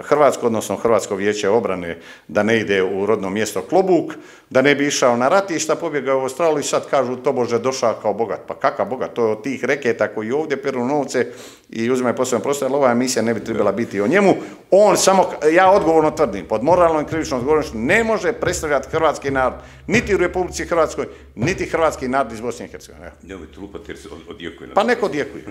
Hrvatsku, odnosno Hrvatsko vijeće obrane, da ne ide u rodno mjesto Klobuk, da ne bi išao na ratišta, pobjegao u Australiju i sad kažu tobože došao kao bogat. Pa kakav bogat? To je od tih reketa koji ovdje peru novce i uzimaju posebno prostor, ali ova emisija ne bi trebala biti o njemu. On samo, ja odgovorno tvrdim, pod moralnom i krivičnom odgovornošću ne može predstavljati hrvatski narod, niti u Republici Hrvatskoj, niti hrvatski narod iz Bosne i Hercegovine. Nemojte lupati jer se odjekuje. Pa neko odjekuje.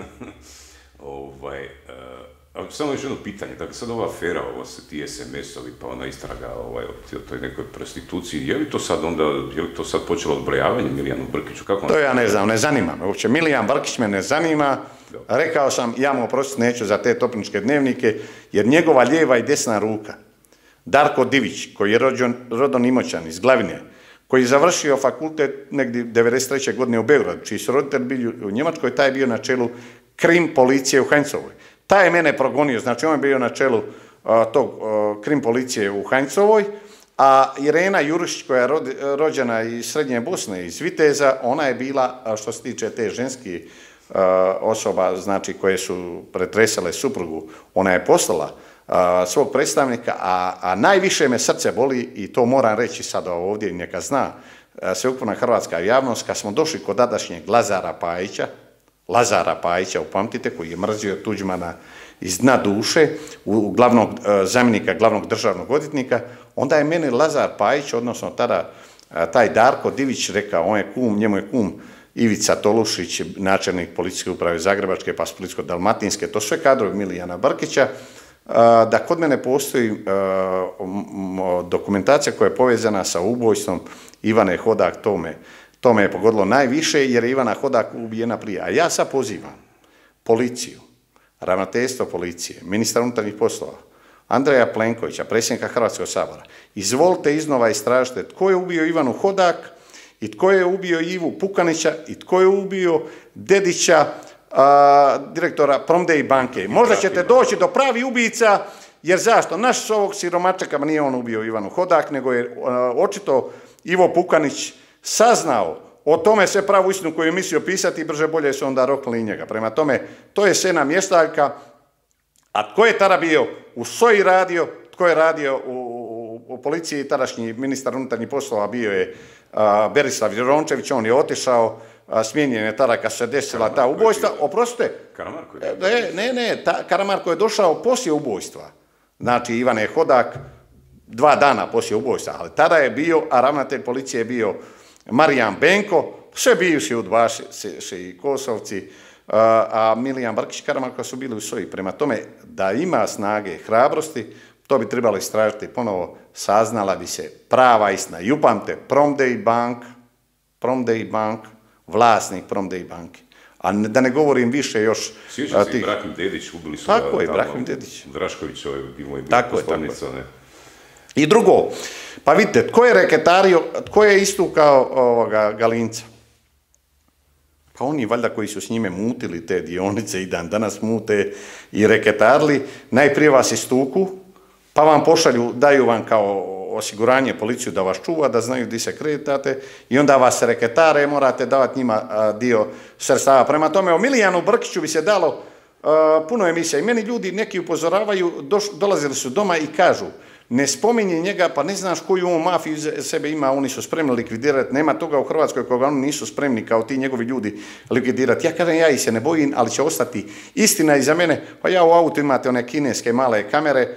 ovaj, uh, samo još jedno pitanje, dakle sad ova afera, ovo se ti es em es-ovi, pa ona istraga ovaj, o toj nekoj prostituciji, je li to sad onda, je li to sad počelo odbrojavanje Milijanu Brkiću? Kako to ja ne znam, ne zanima me uopće. Milijan Brkić me ne zanima. Rekao sam, ja mu oprostiti neću za te topničke dnevnike, jer njegova lijeva i desna ruka, Darko Divić, koji je rođen, rodon Imoćan iz Glavine, koji je završio fakultet negdje devedeset treće godine u Beogradu, čiji su roditelji bili u Njemačkoj, taj je bio na čelu krim policije u Hajncovoj. Taj je mene progonio, znači on je bio na čelu uh, tog uh, krim policije u Hajncovoj, a Irena Jurušić, koja je rod, rođena iz Srednje Bosne, iz Viteza, ona je bila, što se tiče te ženske uh, osoba, znači koje su pretresale suprugu, ona je poslala uh, svog predstavnika, a, a najviše me srce boli, i to moram reći sada ovdje, neka zna uh, sveukupna hrvatska javnost, kad smo došli kod tadašnjeg Lazara Pajića, Lazara Pajića, upamtite, koji je mrzio Tuđmana iz dna duše, u glavnog, zamjenika glavnog državnog odvjetnika, onda je meni Lazar Pajić, odnosno tada taj Darko Divić rekao, on je kum, njemu je kum Ivica Tolušić, načelnik policijske uprave Zagrebačke, pa Splitsko-dalmatinske, to sve kadrovi Milijana Brkića, da kod mene postoji dokumentacija koja je povezana sa ubojstvom Ivane Hodak, tome. To me je pogodilo najviše jer je Ivana Hodak ubijena prije. A ja sad pozivam policiju, ravnateljstvo policije, ministra unutarnjih poslova, Andreja Plenkovića, predsjednika Hrvatskog sabora, izvolite iznova istražite tko je ubio Ivanu Hodak i tko je ubio Ivu Pukanića i tko je ubio Dedića, a, direktora Promdej banke. Možda ćete doći do pravi ubica, jer zašto? Naš s ovog siromačaka nije on ubio Ivanu Hodak, nego je a, očito Ivo Pukanić saznao o tome sve pravu istinu koju je mislio pisati i brže bolje su onda rokli njega. Prema tome, to je sena mjestaljka, a tko je tada bio u S O I radio, tko je radio u, u, u policiji, tadašnji ministar unutarnjih poslova bio je a, Berislav Jerončević, on je otišao, a, smijenjen je tada kad se desila ta ubojstva. Oprostite. Karamarko je Ne, ne, ne, ta, Karamarko je došao poslije ubojstva. Znači, Ivane Hodak, dva dana poslije ubojstva, ali tada je bio, a ravnatelj policije je bio Marijan Benko, sve bivši udbaši i Kosovci, a Milijan Brkić, Karamarka su bili u soji. Prema tome, da ima snage i hrabrosti, to bi trebalo istražiti ponovo, saznala bi se prava istina. I upamte, Promdej Bank, Promdej Bank, vlasnik Promdej banke. A da ne govorim više još... Sjećam se i Brahim Dedić, ubili su tako ga je, tamo, Brahim Dedić. Drašković, ovaj, bilo je tako poslovnica, ne? I drugo, pa vidite, tko je reketario, tko je istukao ovoga Galinca? Pa oni valjda koji su s njime mutili te dionice i dan danas mute i reketarili, najprije vas istuku, pa vam pošalju, daju vam kao osiguranje policiju da vas čuva, da znaju gdje se kreditate i onda vas reketare, morate davati njima dio sredstava. Prema tome, o Milijanu Brkiću bi se dalo puno emisija i meni ljudi neki upozoravaju, dolazili su doma i kažu ne spominje njega, pa ne znaš koju on mafiju sebe ima, oni su spremni likvidirati, nema toga u Hrvatskoj koga oni nisu spremni kao ti njegovi ljudi likvidirati. Ja kažem, ja ih se ne bojim, ali će ostati istina iza mene, pa ja u autu imate one kineske male kamere,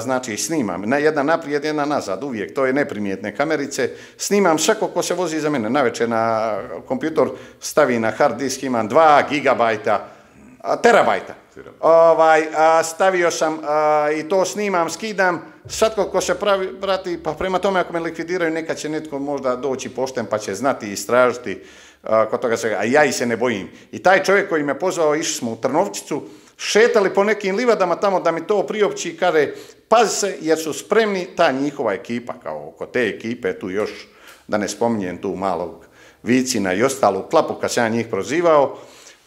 znači snimam, jedna naprijed, jedna nazad, uvijek, to je neprimjetne kamerice, snimam svako ko se vozi iza mene, navečer na kompjutor stavi na hard disk, imam dva gigabajta, terabajta, ovaj, stavio sam i to snimam, skidam, svatko ko se pravi, prati, pa prema tome ako me likvidiraju, nekad će netko možda doći pošten pa će znati i istražiti kod toga svega, a ja ih se ne bojim. I taj čovjek koji me pozvao, išli smo u Trnovčicu, šetali po nekim livadama tamo da mi to priopći i kaže, pazi se jer su spremni, ta njihova ekipa, kao oko te ekipe, tu još, da ne spominjem tu malog Vicina i ostalu klapu kad sam ja njih prozivao,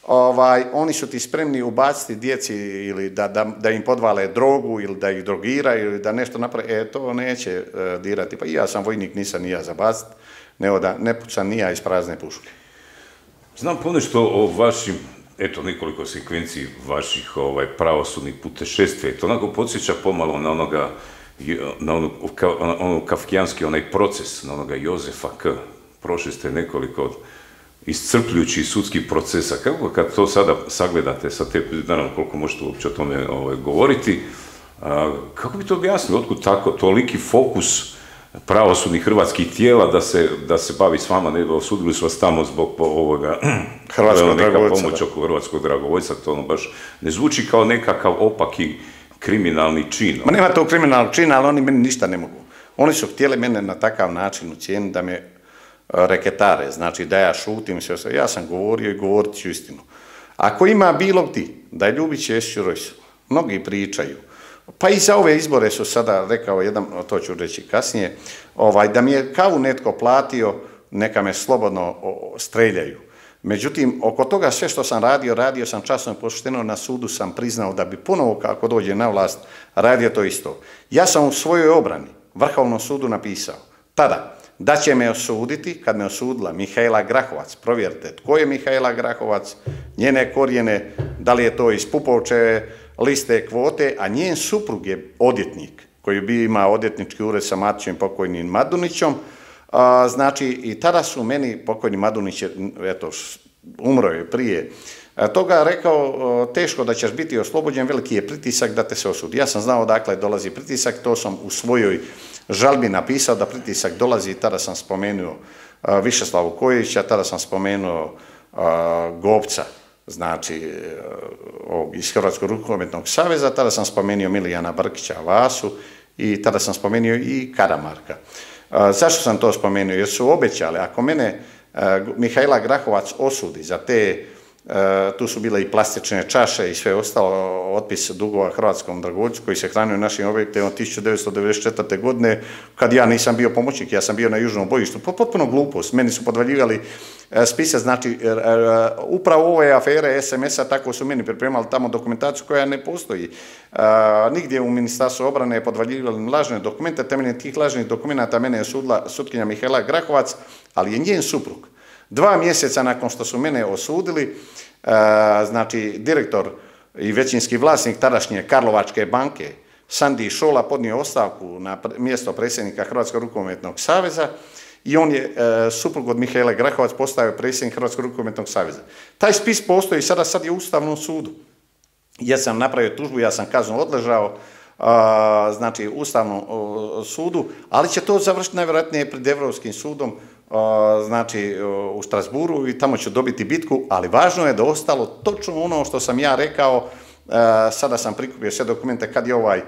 ovaj, oni su ti spremni ubaciti djeci ili da, da, da im podvale drogu ili da ih drogiraju ili da nešto naprave, e, to neće e, dirati. Pa i ja sam vojnik, nisam ni ja za bacit, nego da ne pucam ni ja iz prazne puške. Znam ponešto o vašim, eto, nekoliko sekvenciji vaših ovaj, pravosudnih putešestvija. To onako podsjeća pomalo na onoga, na ono, ka, ono kafkijanski onaj proces, na onoga Jozefa K. Prošli ste nekoliko iscrpljujućih sudskih procesa. Kako kad to sada sagledate, sa te, naravno koliko možete uopće o tome ovaj, govoriti, a, kako bi to objasnili, otkud tako, toliki fokus pravosudnih hrvatskih tijela da se, da se bavi s vama, ne, osudili su vas tamo zbog ovoga, hrvatskog dragovoljca, pomoć oko hrvatskog dragovoljca, to ono baš ne zvuči kao nekakav opaki kriminalni čin. Ma nema tog kriminalnog čina, ali oni meni ništa ne mogu. Oni su htjeli mene na takav način ucijeniti da me reketare, znači da ja šutim sve, sve. Ja sam govorio i govorit ću istinu. Ako ima bilo ti, da je Ljubić Jesić Rojs, mnogi pričaju, pa i za ove izbore su sada, rekao jedan, to ću reći kasnije, ovaj, da mi je kavu netko platio, neka me slobodno streljaju. Međutim, oko toga sve što sam radio, radio sam časno i pošteno, na sudu sam priznao da bi ponovo, kako dođe na vlast, radio to isto. Ja sam u svojoj obrani Vrhovnom sudu napisao, tada, da će me osuditi, kad me osudila Mihaela Grahovac, provjerite tko je Mihaela Grahovac, njene korijene, da li je to iz Pupovčeve liste kvote, a njen suprug je odjetnik, koji bi imao odjetnički ured sa Matićem pokojnim Madunićom, a, znači i tada su meni pokojni Madunić, eto, umro je prije a, toga, rekao, teško da ćeš biti oslobođen, veliki je pritisak da te se osudi. Ja sam znao odakle dolazi pritisak, to sam u svojoj žalbi napisao da pritisak dolazi i tada sam spomenuo a, Višeslavu Kojića, tada sam spomenuo a, Gopca, znači a, iz Hrvatskog rukometnog saveza, tada sam spomenuo Milijana Brkića Vasu i tada sam spomenuo i Karamarka. A, zašto sam to spomenuo? Jer su obećali, ako mene a, Mihaela Grahovac osudi za te, a, tu su bile i plastične čaše i sve ostalo, otpis dugova hrvatskom dragovoljcu koji se hranio našim objektima od tisuću devetsto devedeset četvrte. godine, kad ja nisam bio pomoćnik, ja sam bio na južnom bojištu, potpuno glupost, meni su podvaljivali spise, znači upravo ove afere es em es-a, tako su meni pripremali tamo dokumentaciju koja ne postoji. Nigdje u Ministarstvu obrane je podvaljivali lažne dokumente, temeljem tih lažnih dokumenta mene je sudila sutkinja Mihaela Grahovac, ali je njen suprug. Dva mjeseca nakon što su mene osudili, znači direktor i većinski vlasnik tadašnje Karlovačke banke, Sandi Šola, podnio ostavku na mjesto predsjednika Hrvatskog rukometnog saveza i on je e, suprug od Mihaele Grahovac postao predsjednik Hrvatskog rukometnog saveza. Taj spis postoji sada, sad je u Ustavnom sudu. Ja sam napravio tužbu, ja sam kaznu odležao, a, znači Ustavnom o, sudu, ali će to završiti najvjerojatnije pred Europskim sudom znači u Strasburu i tamo ću dobiti bitku, ali važno je da ostalo točno ono što sam ja rekao. Sada sam prikupio sve dokumente kad je ovaj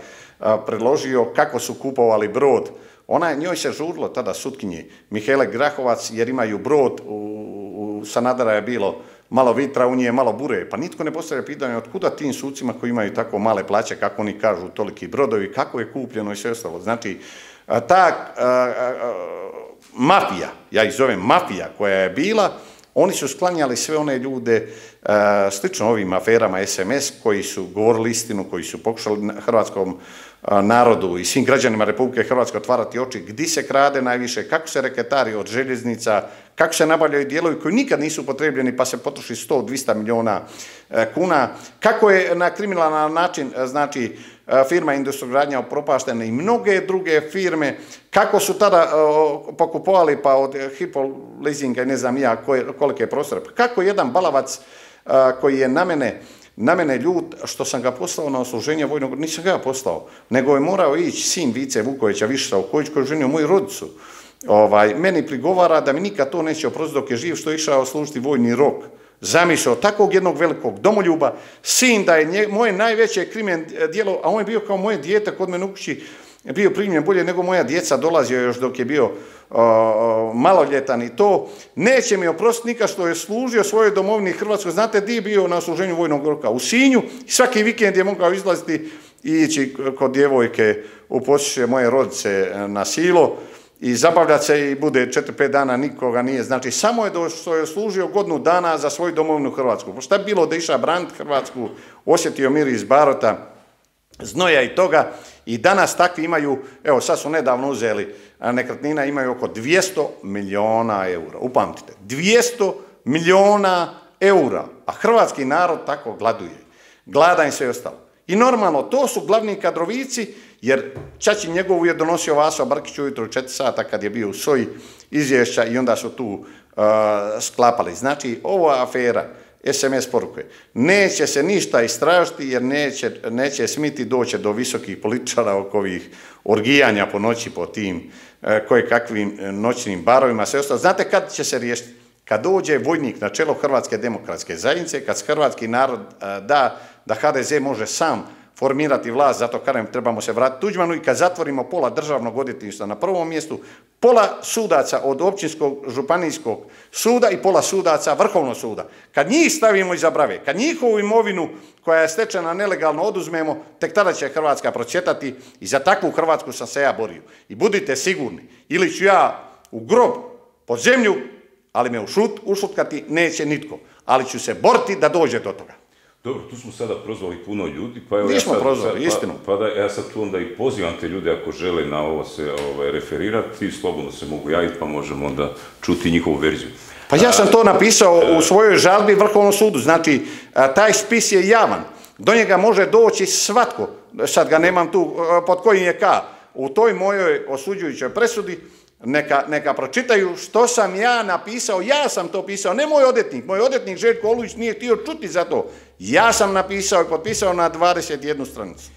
predložio kako su kupovali brod. Ona, njoj se žurilo tada sutkinji Mihajle Grahovac jer imaju brod, u, u Sanadera je bilo malo vitra, u nje je malo bure, pa nitko ne postavlja pitanje otkuda tim sucima koji imaju tako male plaće, kako oni kažu, toliki brodovi, kako je kupljeno i sve ostalo. Znači, ta a, a, mafija, ja ih zovem mafija koja je bila, oni su sklanjali sve one ljude, a, slično ovim aferama es em es, koji su govorili istinu, koji su pokušali hrvatskom narodu i svim građanima Republike Hrvatske otvarati oči gdje se krade najviše, kako se reketari od željeznica, kako se nabavljaju dijelovi koji nikad nisu upotrebljeni pa se potroši sto do dvjesto milijuna kuna, kako je na kriminalan način, znači, firma Industrogradnja upropaštena i mnoge druge firme, kako su tada pokupovali pa od Hypo leasinga i ne znam ja kolike prostore, kako jedan balavac koji je na mene Na mene ljud što sam ga poslao na odsluženje vojnog, nisam ga poslao, nego je morao ići sin Vice Vukovića, Višsa Vuković, koji je ženio moju rodicu. Ovaj, meni prigovara da mi nikad to neće oprostiti dok je živ, što je išao služiti vojni rok. Zamišljao takvog jednog velikog domoljuba, sin da je nje, moje najveće krimen djelo, a on je bio kao moje dijete kod mene u kući, bio primljen bolje nego moja djeca, dolazio još dok je bio uh, maloljetan i to. Neće mi oprostiti nikad što je služio svojoj domovini Hrvatskoj. Znate di je bio na odsluženju vojnog roka? U Sinju. Svaki vikend je mogao izlaziti i ići kod djevojke u posjeće moje rodice na silo i zabavljati se i bude četiri pet dana nikoga nije. Znači, samo je do što je služio godinu dana za svoju domovinu Hrvatsku. Pa šta bi bilo da iša braniti Hrvatsku, osjetio miris barota, znoja i toga. I danas takvi imaju, evo sad su nedavno uzeli, nekretnina imaju oko dvjesto milijuna eura. Upamtite, dvjesto milijuna eura, a hrvatski narod tako gladuje. Gladan se i ostalo. I normalno, to su glavni kadrovici, jer Čačin njegovu je donosio Vaso Brkić ujutro u četiri sata kad je bio u soji izvješća i onda su tu uh, sklapali. Znači, ova afera, es em es poruke, neće se ništa istražiti jer neće, neće smiti doći do visokih političara oko ovih orgijanja po noći po tim e, koje kakvim noćnim barovima, sve ostalo. Znate kad će se riješiti? Kad dođe vojnik na čelo Hrvatske demokratske zajednice, kad hrvatski narod e, da da ha de ze može sam formirati vlast, zato kažem trebamo se vratiti Tuđmanu i kad zatvorimo pola državnog odvjetništva na prvom mjestu, pola sudaca od općinskog županijskog suda i pola sudaca Vrhovnog suda. Kad njih stavimo iza brave, kad njihovu imovinu koja je stečena nelegalno oduzmemo, tek tada će Hrvatska procvjetati i za takvu Hrvatsku sam se ja borio. I budite sigurni, ili ću ja u grob, pod zemlju, ali me ušut, ušutkati neće nitko. Ali ću se boriti da dođe do toga. Dobro, tu smo sada prozvali puno ljudi, pa evo Nismo ja sad, prozvali, sad, istinu. Pa, pa da ja sad tu onda i pozivam te ljude ako žele na ovo se ovaj, referirati, slobodno se mogu javiti pa možemo onda čuti njihovu verziju. Pa ja sam to napisao u svojoj žalbi Vrhovnom sudu, znači taj spis je javan, do njega može doći svatko, sad ga nemam tu pod kojim je ka, u toj mojoj osuđujućoj presudi, Neka, neka pročitaju što sam ja napisao, ja sam to pisao, ne moj odvjetnik, moj odvjetnik Željko Olujić nije htio čuti za to. Ja sam napisao i potpisao na dvadeset jednu stranicu.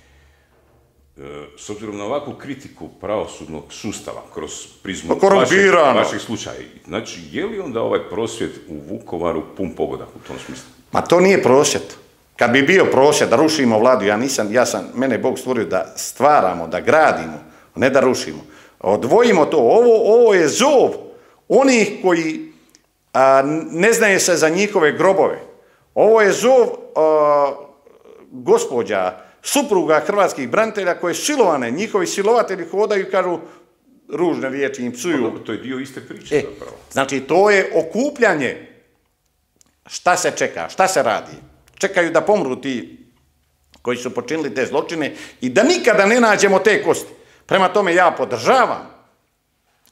E, s obzirom na ovakvu kritiku pravosudnog sustava kroz prizmu vaših, vaših slučaja, znači je li onda ovaj prosvjed u Vukovaru pun pogodak u tom smislu? Ma to nije prosvjed. Kad bi bio prosvjed da rušimo vladu, ja nisam, ja sam, mene je Bog stvorio da stvaramo, da gradimo, ne da rušimo. Odvojimo to, ovo, ovo je zov onih koji a, ne znaju se za njihove grobove. Ovo je zov a, gospođa, supruga hrvatskih branitelja koje su silovane, njihovi silovatelji hodaju i kažu ružne riječi, im psuju. To je dio iste priče. E, znači, to je okupljanje. Šta se čeka, šta se radi? Čekaju da pomru ti koji su počinili te zločine i da nikada ne nađemo te kosti. Prema tome ja podržavam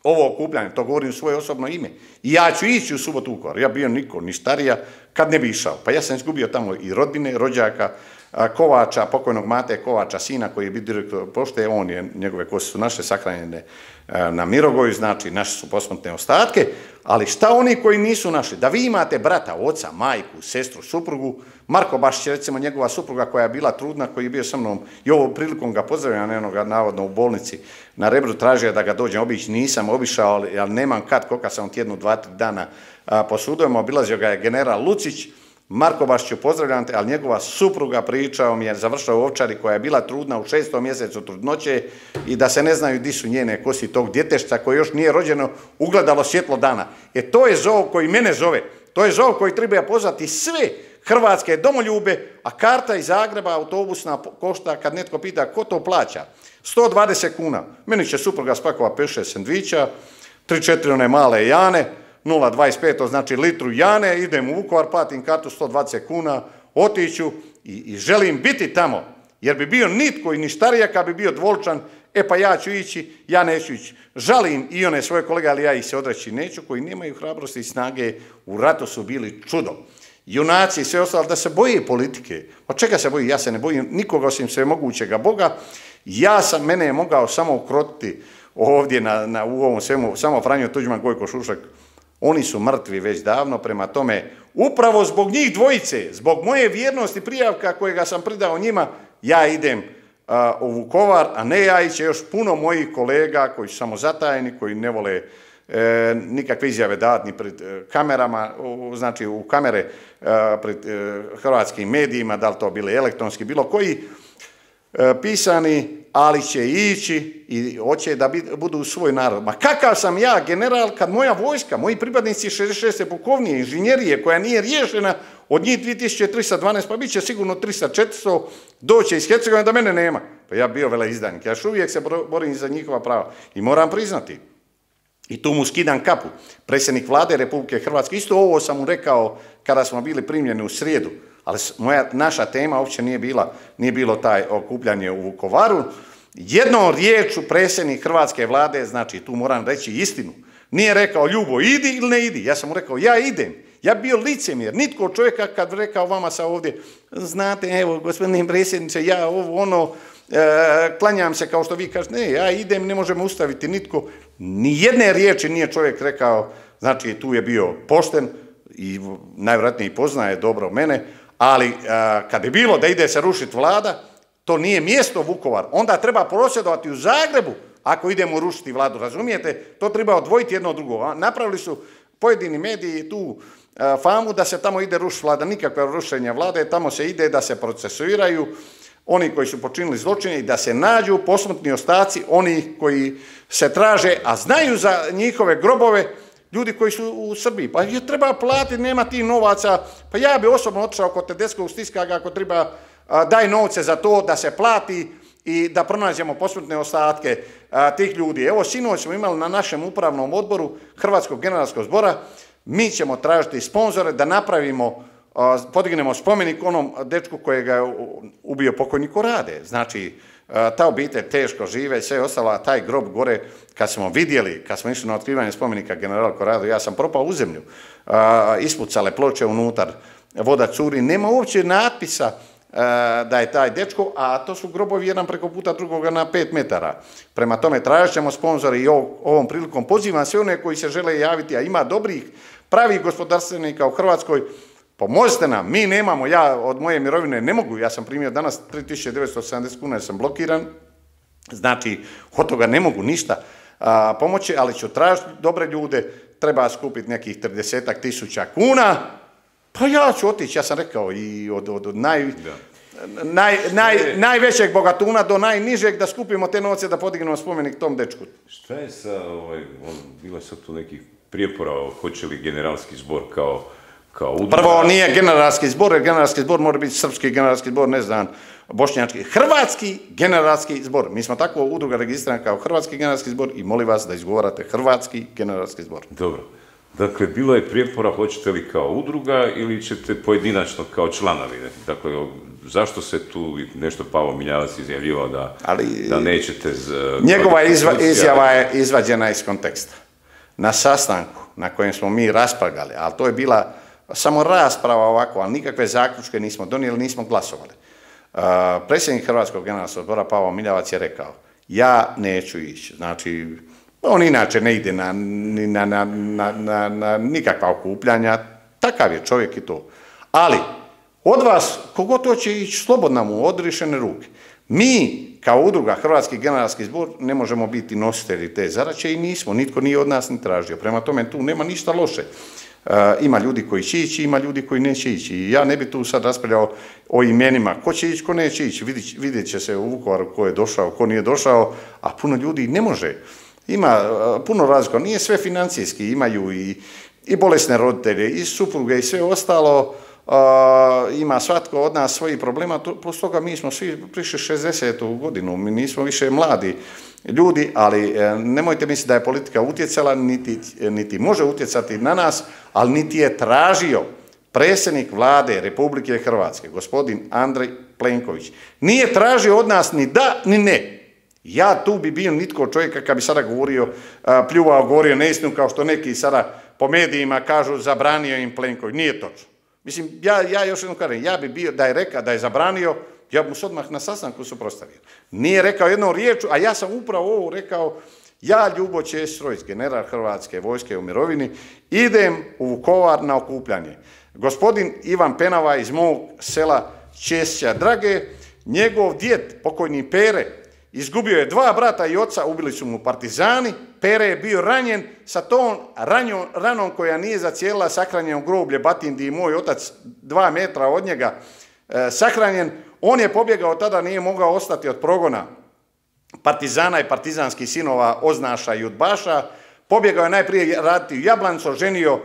ovo okupljanje, to govorim u svoje osobno ime. I ja ću ići u subotu u Vukovar. Ja bio niko, ni starija, kad ne bi išao. Pa ja sam izgubio tamo i rodbine, rođaka, Kovača, pokojnog Mate Kovača, sina koji je bio direktor pošte, on je, njegove kosti su naše sahranjene na Mirogoju, znači naše su posmrtne ostatke, ali šta oni koji nisu naši? Da vi imate brata, oca, majku, sestru, suprugu, Marko Bašić, recimo njegova supruga koja je bila trudna, koji je bio sa mnom i ovom prilikom ga pozdravljam, eno ga navodno u bolnici na Rebru, tražio da ga dođem obići, nisam obišao, ali, ali nemam kad, koliko sam tjednu, dva, tri dana po sudovima, obilazio ga je general Lucić. Marko Bašiću, pozdravljam te, ali njegova supruga pričao mi je, završao u Ovčari koja je bila trudna u šestom mjesecu trudnoće i da se ne znaju di su njene kosti tog djetešca koje još nije rođeno, ugledalo svjetlo dana. E to je zov koji mene zove, to je zov koji treba pozvati sve hrvatske domoljube, a karta iz Zagreba, autobusna košta, kad netko pita ko to plaća, sto dvadeset kuna. Meni će supruga spakova pet šest sendviča, tri četiri one male jane, nula dvadeset pet, to znači litru jane, idem u Vukovar, platim kartu sto dvadeset kuna, otiću i, i želim biti tamo, jer bi bio nitko i ništarija kad bi bio dvoličan, e pa ja ću ići, ja neću ići. Žalim i one svoje kolege, ali ja ih se odreći neću, koji nemaju hrabrosti i snage, u ratu su bili čudo. Junaci i sve ostalo, da se boje politike. Pa čega se boji? Ja se ne bojim nikoga osim svemogućega Boga. Ja sam, mene je mogao samo ukrotiti ovdje na, na, u ovom svemu, samo Franjo Tuđman, Gojko Šušak. Oni su mrtvi već davno, prema tome, upravo zbog njih dvojice, zbog moje vjernosti prijavka kojega sam pridao njima, ja idem a, u Vukovar, a ne ja iće još puno mojih kolega koji su samozatajni, koji ne vole e, nikakve izjave davati ni pred e, kamerama, u, znači u kamere e, pred e, hrvatskim medijima, da li to bili elektronski, bilo koji e, pisani, ali će ići i hoće da budu svoj narod. Ma kakav sam ja general kad moja vojska, moji pripadnici šezdeset šeste pukovnije, inženjerije koja nije riješena, od njih dvije tisuće tristo dvanaest, pa bit će sigurno tristo četiristo, doće iz Hercegovine da mene nema. Pa ja bio veleizdanik, ja još uvijek se borim za njihova prava i moram priznati. I tu mu skidam kapu. Predsjednik vlade Republike Hrvatske, isto ovo sam mu rekao kada smo bili primljeni u srijedu, ali moja, naša tema uopće nije bila, nije bilo taj okupljanje u Vukovaru. Jednom riječu predsjednik hrvatske vlade, znači tu moram reći istinu, nije rekao Ljubo idi ili ne idi, ja sam mu rekao ja idem. Ja bi bio licemjer, nitko od čovjeka kad rekao vama sa ovdje, znate, evo, gospodine predsjedniče, ja ovo, ono, e, klanjam se kao što vi kažete, ne, ja idem, ne možemo ustaviti nitko. Ni jedne riječi nije čovjek rekao, znači tu je bio pošten i najvjerojatnije poznaje dobro mene, ali a, kad je bilo da ide se rušiti vlada, to nije mjesto Vukovar, onda treba prosvjedovati u Zagrebu ako idemo rušiti vladu, razumijete? To treba odvojiti jedno od drugo. Napravili su pojedini mediji tu a, famu da se tamo ide rušiti vlada, nikakve rušenja vlade, tamo se ide da se procesuiraju oni koji su počinili zločine i da se nađu posmrtni ostaci oni koji se traže, a znaju za njihove grobove, ljudi koji su u Srbiji. Pa je treba platiti, nema tih novaca. Pa ja bi osobno otišao kod Tedeskog, stiska ga ako treba, a, daj novce za to da se plati i da pronađemo posmrtne ostatke a, tih ljudi. Evo, sinoć smo imali na našem upravnom odboru Hrvatskog generalskog zbora, mi ćemo tražiti sponzore da napravimo, a, podignemo spomenik onom dečku kojega je ubio pokojnik Korade. Znači, ta obitelj teško žive, sve ostalo, a taj grob gore, kad smo vidjeli, kad smo išli na otkrivanje spomenika generalu Koradu, ja sam propao u zemlju, a, ispucale ploče unutar, voda curi, nema uopće natpisa a, da je taj dečko, a to su grobovi jedan preko puta drugoga na pet metara. Prema tome, tražit ćemo sponzori i ov, ovom prilikom pozivam sve one koji se žele javiti, a ima dobrih, pravih gospodarstvenika u Hrvatskoj. Pomozite nam, mi nemamo, ja od moje mirovine ne mogu, ja sam primio danas tri tisuće devetsto sedamdeset kuna jer sam blokiran, znači od toga ne mogu ništa a, pomoći, ali ću tražiti dobre ljude, treba skupiti nekih tridesetak tisuća kuna, pa ja ću otići, ja sam rekao i od, od, od naj, naj, naj, najvećeg bogatuna do najnižeg da skupimo te novce da podignemo spomenik tom dečku. Šta je sa, ovaj, on, bilo je sad tu nekih prijepora, hoće li generalski zbor kao Prvo, nije generalski zbor, jer generalski zbor mora biti srpski generalski zbor, ne znam, bošnjački, hrvatski generalski zbor. Mi smo tako udruga registrirana kao hrvatski generalski zbor i molim vas da izgovarate hrvatski generalski zbor. Dobro. Dakle, bilo je prijepora, hoćete li kao udruga ili ćete pojedinačno kao članovi? Dakle, zašto se tu nešto Pavo Miljavac izjavljivao da, Ali, da nećete... Z, njegova izva, izjava je izvađena iz konteksta. Na sastanku na kojem smo mi raspravljali, ali to je bila samo rasprava ovako, ali nikakve zaključke nismo donijeli, nismo glasovali. Predsjednik Hrvatskog generalskog odbora Pavao Miljavac je rekao, ja neću ići. Znači, on inače ne ide na, na, na, na, na, na nikakva okupljanja, takav je čovjek i to. Ali, od vas, kogod to će ići, slobodno mu odriješene ruke. Mi, kao udruga Hrvatski generalski zbor, ne možemo biti nositelji te zadaće i nismo, nitko nije od nas ni tražio. Prema tome, tu nema ništa loše. Uh, ima ljudi koji će ići, ima ljudi koji neće ići. I ja ne bi tu sad raspravljao o imenima. Ko će ići, ko neće ići. Vidjet, vidjet će se u Vukovaru ko je došao, ko nije došao, a puno ljudi ne može. Ima uh, puno razlika. Nije sve financijski. Imaju i, i bolesne roditelje, i supruge, i sve ostalo. Uh, ima svatko od nas svojih problema, plus toga mi smo svi prišli šezdesetu godinu, mi nismo više mladi ljudi, ali uh, nemojte misliti da je politika utjecala, niti, niti može utjecati na nas, ali niti je tražio predsjednik vlade Republike Hrvatske, gospodin Andrej Plenković, nije tražio od nas ni da, ni ne. Ja tu bi bio nitko čovjeka kad bi sada govorio, uh, pljuvao, govorio neistinu, kao što neki sada po medijima kažu zabranio im Plenković, nije točno. Mislim, ja, ja još jednom kažem, ja bi bio, da je rekao, da je zabranio, ja bi mu se odmah na sastanku suprotstavio. Nije rekao jednom riječu, a ja sam upravo ovo rekao, ja, Ljubo Ćesić Rojs, general Hrvatske vojske u mirovini, idem u Vukovar na okupljanje. Gospodin Ivan Penava iz mog sela Ćesića Drage, njegov djed, pokojni Pere, izgubio je dva brata i oca, ubili su mu partizani, Pere je bio ranjen sa tom ranjom, ranom koja nije zacijelila, sahranjen u groblje Batindi i moj otac dva metra od njega e, sahranjen. On je pobjegao, tada nije mogao ostati od progona partizana i partizanskih sinova, oznaša i udbaša. Pobjegao je najprije raditi u Jablanicu, ženio uh,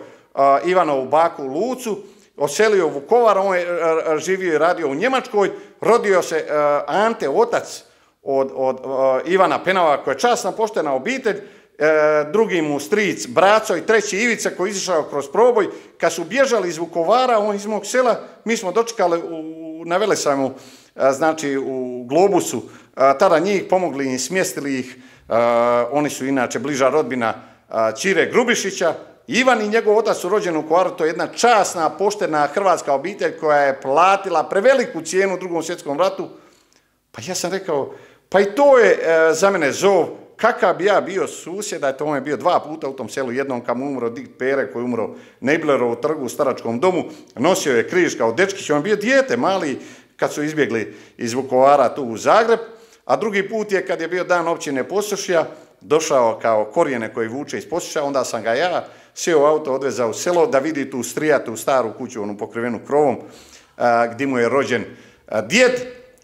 Ivanovu baku Lucu, oselio u Vukovar, on je uh, živio i radio u Njemačkoj, rodio se uh, Ante, otac od, od uh, Ivana Penava, koja je časna, poštena obitelj, uh, drugi mu stric Braco i treći Ivica koji je izišao kroz proboj. Kad su bježali iz Vukovara, on iz mog sela, mi smo dočekali u, na Velesajmu, uh, znači u Globusu, uh, tada njih pomogli i smjestili ih, uh, oni su inače bliža rodbina uh, Ćire Grubišića. Ivan i njegov otac su rođeni u Vukovaru, to je jedna časna, poštena hrvatska obitelj koja je platila preveliku cijenu u Drugom svjetskom ratu. Pa ja sam rekao, pa i to je e, za mene zov, kakav bi ja bio susjeda, eto on je bio dva puta u tom selu, jednom kad mu umro Dik Pere, koji je umro na Iblerovu trgu u staračkom domu, nosio je križ kao dečkić, on je bio dijete mali kad su izbjegli iz Vukovara tu u Zagreb, a drugi put je kad je bio dan općine Posušja, došao kao korijene koji vuče iz Posušja, onda sam ga ja sjeo u auto, odvezao u selo da vidi tu strijatu staru kuću, onu pokrivenu krovom, a, gdje mu je rođen a, djed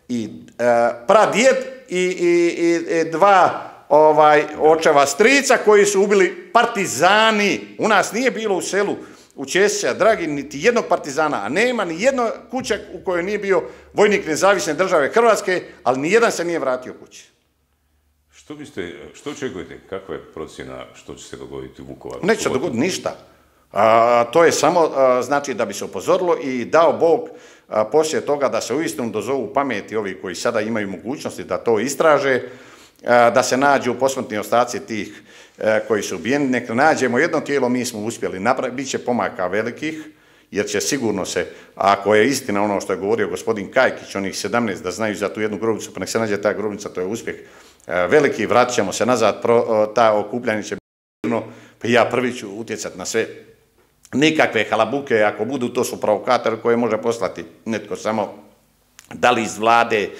i a, pradjed i, i, i, i dva ovaj, očeva strica koji su ubili partizani. U nas nije bilo u selu u Ćesića Dragi niti jednog partizana, a nema ni jedna kuća u kojoj nije bio vojnik Nezavisne države Hrvatske, ali ni jedan se nije vratio kući. Što biste, što očekujete, kakva je procjena što će se dogoditi u Vukovaru? Neće se dogoditi ništa. A, to je samo, a, znači, da bi se upozorilo i dao Bog a, poslije toga da se uistinu dozovu pameti ovi koji sada imaju mogućnosti da to istraže, a, da se nađu posmrtni ostaci tih a, koji su ubijeni. Nek nađemo jedno tijelo, mi smo uspjeli napraviti, bit će pomaka velikih, jer će sigurno se, ako je istina ono što je govorio gospodin Kajkić, onih sedamnaest, da znaju za tu jednu grobnicu, pa nek se nađe ta grobnica, to je uspjeh veliki, vratit ćemo se nazad, pro, ta okupljanje će biti, pa ja prvi ću utjecati na sve. Nikakve halabuke, ako budu, to su provokatori koje može poslati netko samo, da li iz vlade,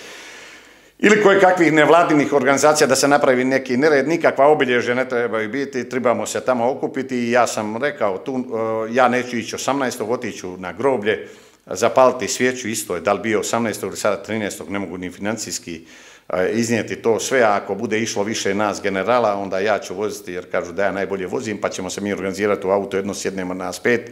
ili koje kakvih nevladinih organizacija da se napravi neki nered, nikakva obilježja ne trebaju biti, trebamo se tamo okupiti i ja sam rekao, tu, ja neću ići osamnaestog, otiću na groblje, zapaliti svijeću, isto je, da li bio osamnaestog ili sada trinaestog, ne mogu ni financijski iznijeti to sve, a ako bude išlo više nas generala, onda ja ću voziti, jer kažu da ja najbolje vozim, pa ćemo se mi organizirati u auto, jedno sjednemo nas pet,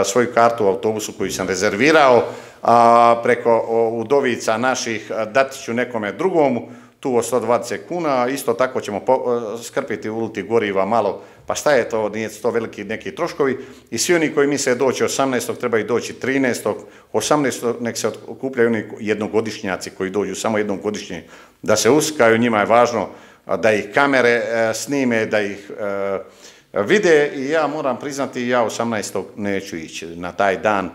svoju kartu u autobusu koju sam rezervirao, a preko udovica naših dati ću nekome drugomu, tu o sto dvadeset kuna, isto tako ćemo skrpiti uliti goriva malo, pa šta je to, nije to veliki neki troškovi, i svi oni koji misle doći osamnaestog trebaju doći trinaestog, osamnaestog nek se okupljaju oni jednogodišnjaci koji dođu samo jednom godišnje, da se uskaju, njima je važno da ih kamere snime, da ih vide, i ja moram priznati, ja osamnaestog neću ići na taj dan,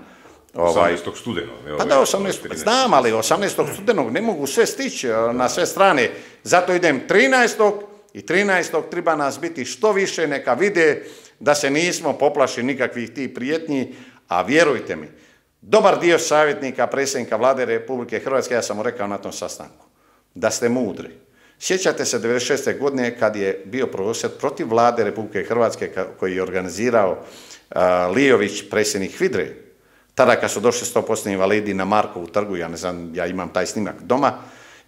osamnaestog studenog. Pa da, osamnaestog znam, ali osamnaestog studenog ne mogu sve stići na sve strane. Zato idem trinaestog i trinaestog treba nas biti što više, neka vide da se nismo poplašili nikakvih tih prijetnji, a vjerujte mi, dobar dio savjetnika, predsjednika Vlade Republike Hrvatske, ja sam mu rekao na tom sastanku, da ste mudri. Sjećate se devedeset šeste godine kad je bio prosvjed protiv Vlade Republike Hrvatske koji je organizirao Lijović, predsjednik HVIDRE, tada kad su došli sto posto invalidi na Markovu trgu, ja ne znam, ja imam taj snimak doma,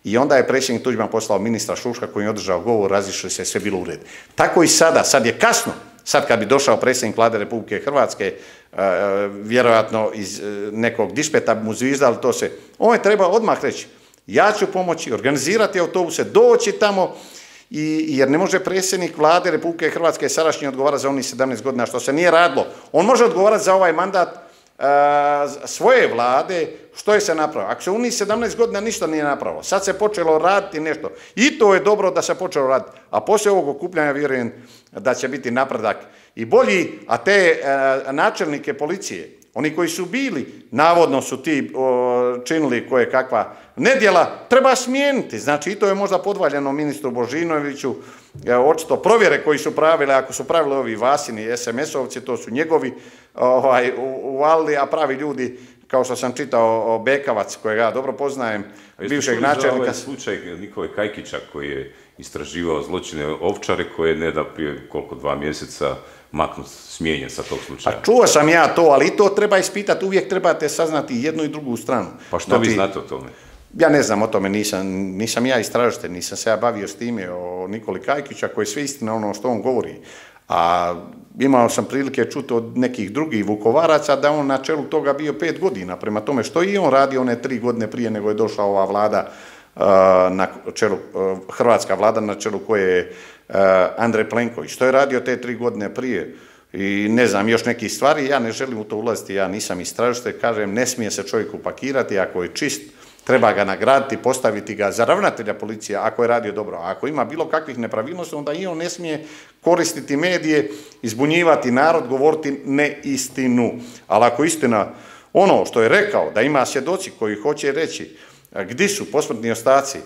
i onda je predsjednik Tuđman poslao ministra Šuška koji je održao govor, razišli se, sve bilo u redu. Tako i sada, sad je kasno, sad kad bi došao predsjednik Vlade Republike Hrvatske, vjerojatno iz nekog dispeta bi mu zvizdali to se, on je treba odmah reći, ja ću pomoći, organizirati autobuse, doći tamo, i, jer ne može predsjednik Vlade Republike Hrvatske sadašnji odgovarati za onih sedamnaest godina što se nije radilo. On može odgovarati za ovaj mandat a, svoje vlade, što je se napravilo. Ako se u njih sedamnaest godina ništa nije napravilo, sad se počelo raditi nešto. I to je dobro da se počelo raditi. A poslije ovog okupljanja vjerujem da će biti napredak i bolji, a te a, načelnike policije, oni koji su bili, navodno su ti o, činili koje kakva nedjela, treba smijeniti. Znači, i to je možda podvaljeno ministru Božinoviću, e, očito provjere koji su pravili, ako su pravili ovi Vasini, es em es-ovci, to su njegovi ovaj, uvalili, a pravi ljudi, kao što sam čitao o Bekavac, kojeg ja dobro poznajem, bivšeg načelnika. Ovaj slučaj Nikole Kajkića koji je istraživao zločine Ovčare, koje je ne da prije koliko dva mjeseca maknut, smijenjen sa tog slučaja. Pa čuo sam ja to, ali i to treba ispitati, uvijek trebate saznati jednu i drugu stranu. Pa što znači, vi znate o tome? Ja ne znam o tome, nisam, nisam ja istražitelj, nisam se ja bavio s time o Nikoli Kajkića, koji je sve istina ono što on govori. A imao sam prilike čuti od nekih drugih Vukovaraca da on na čelu toga bio pet godina. Prema tome što i on radi one tri godine prije nego je došla ova vlada, na čelu, hrvatska vlada na čelu koje je Andrej Plenković. Što je radio te tri godine prije i ne znam još nekih stvari, ja ne želim u to ulaziti, ja nisam istražitelj, kažem, ne smije se čovjek upakirati, ako je čist, treba ga nagraditi, postaviti ga za ravnatelja policije ako je radio dobro. A ako ima bilo kakvih nepravilnosti, onda i on ne smije koristiti medije, izbunjivati narod, govoriti neistinu. Ali ako istina, ono što je rekao, da ima svjedoci koji hoće reći gdje su posmrtni ostaci,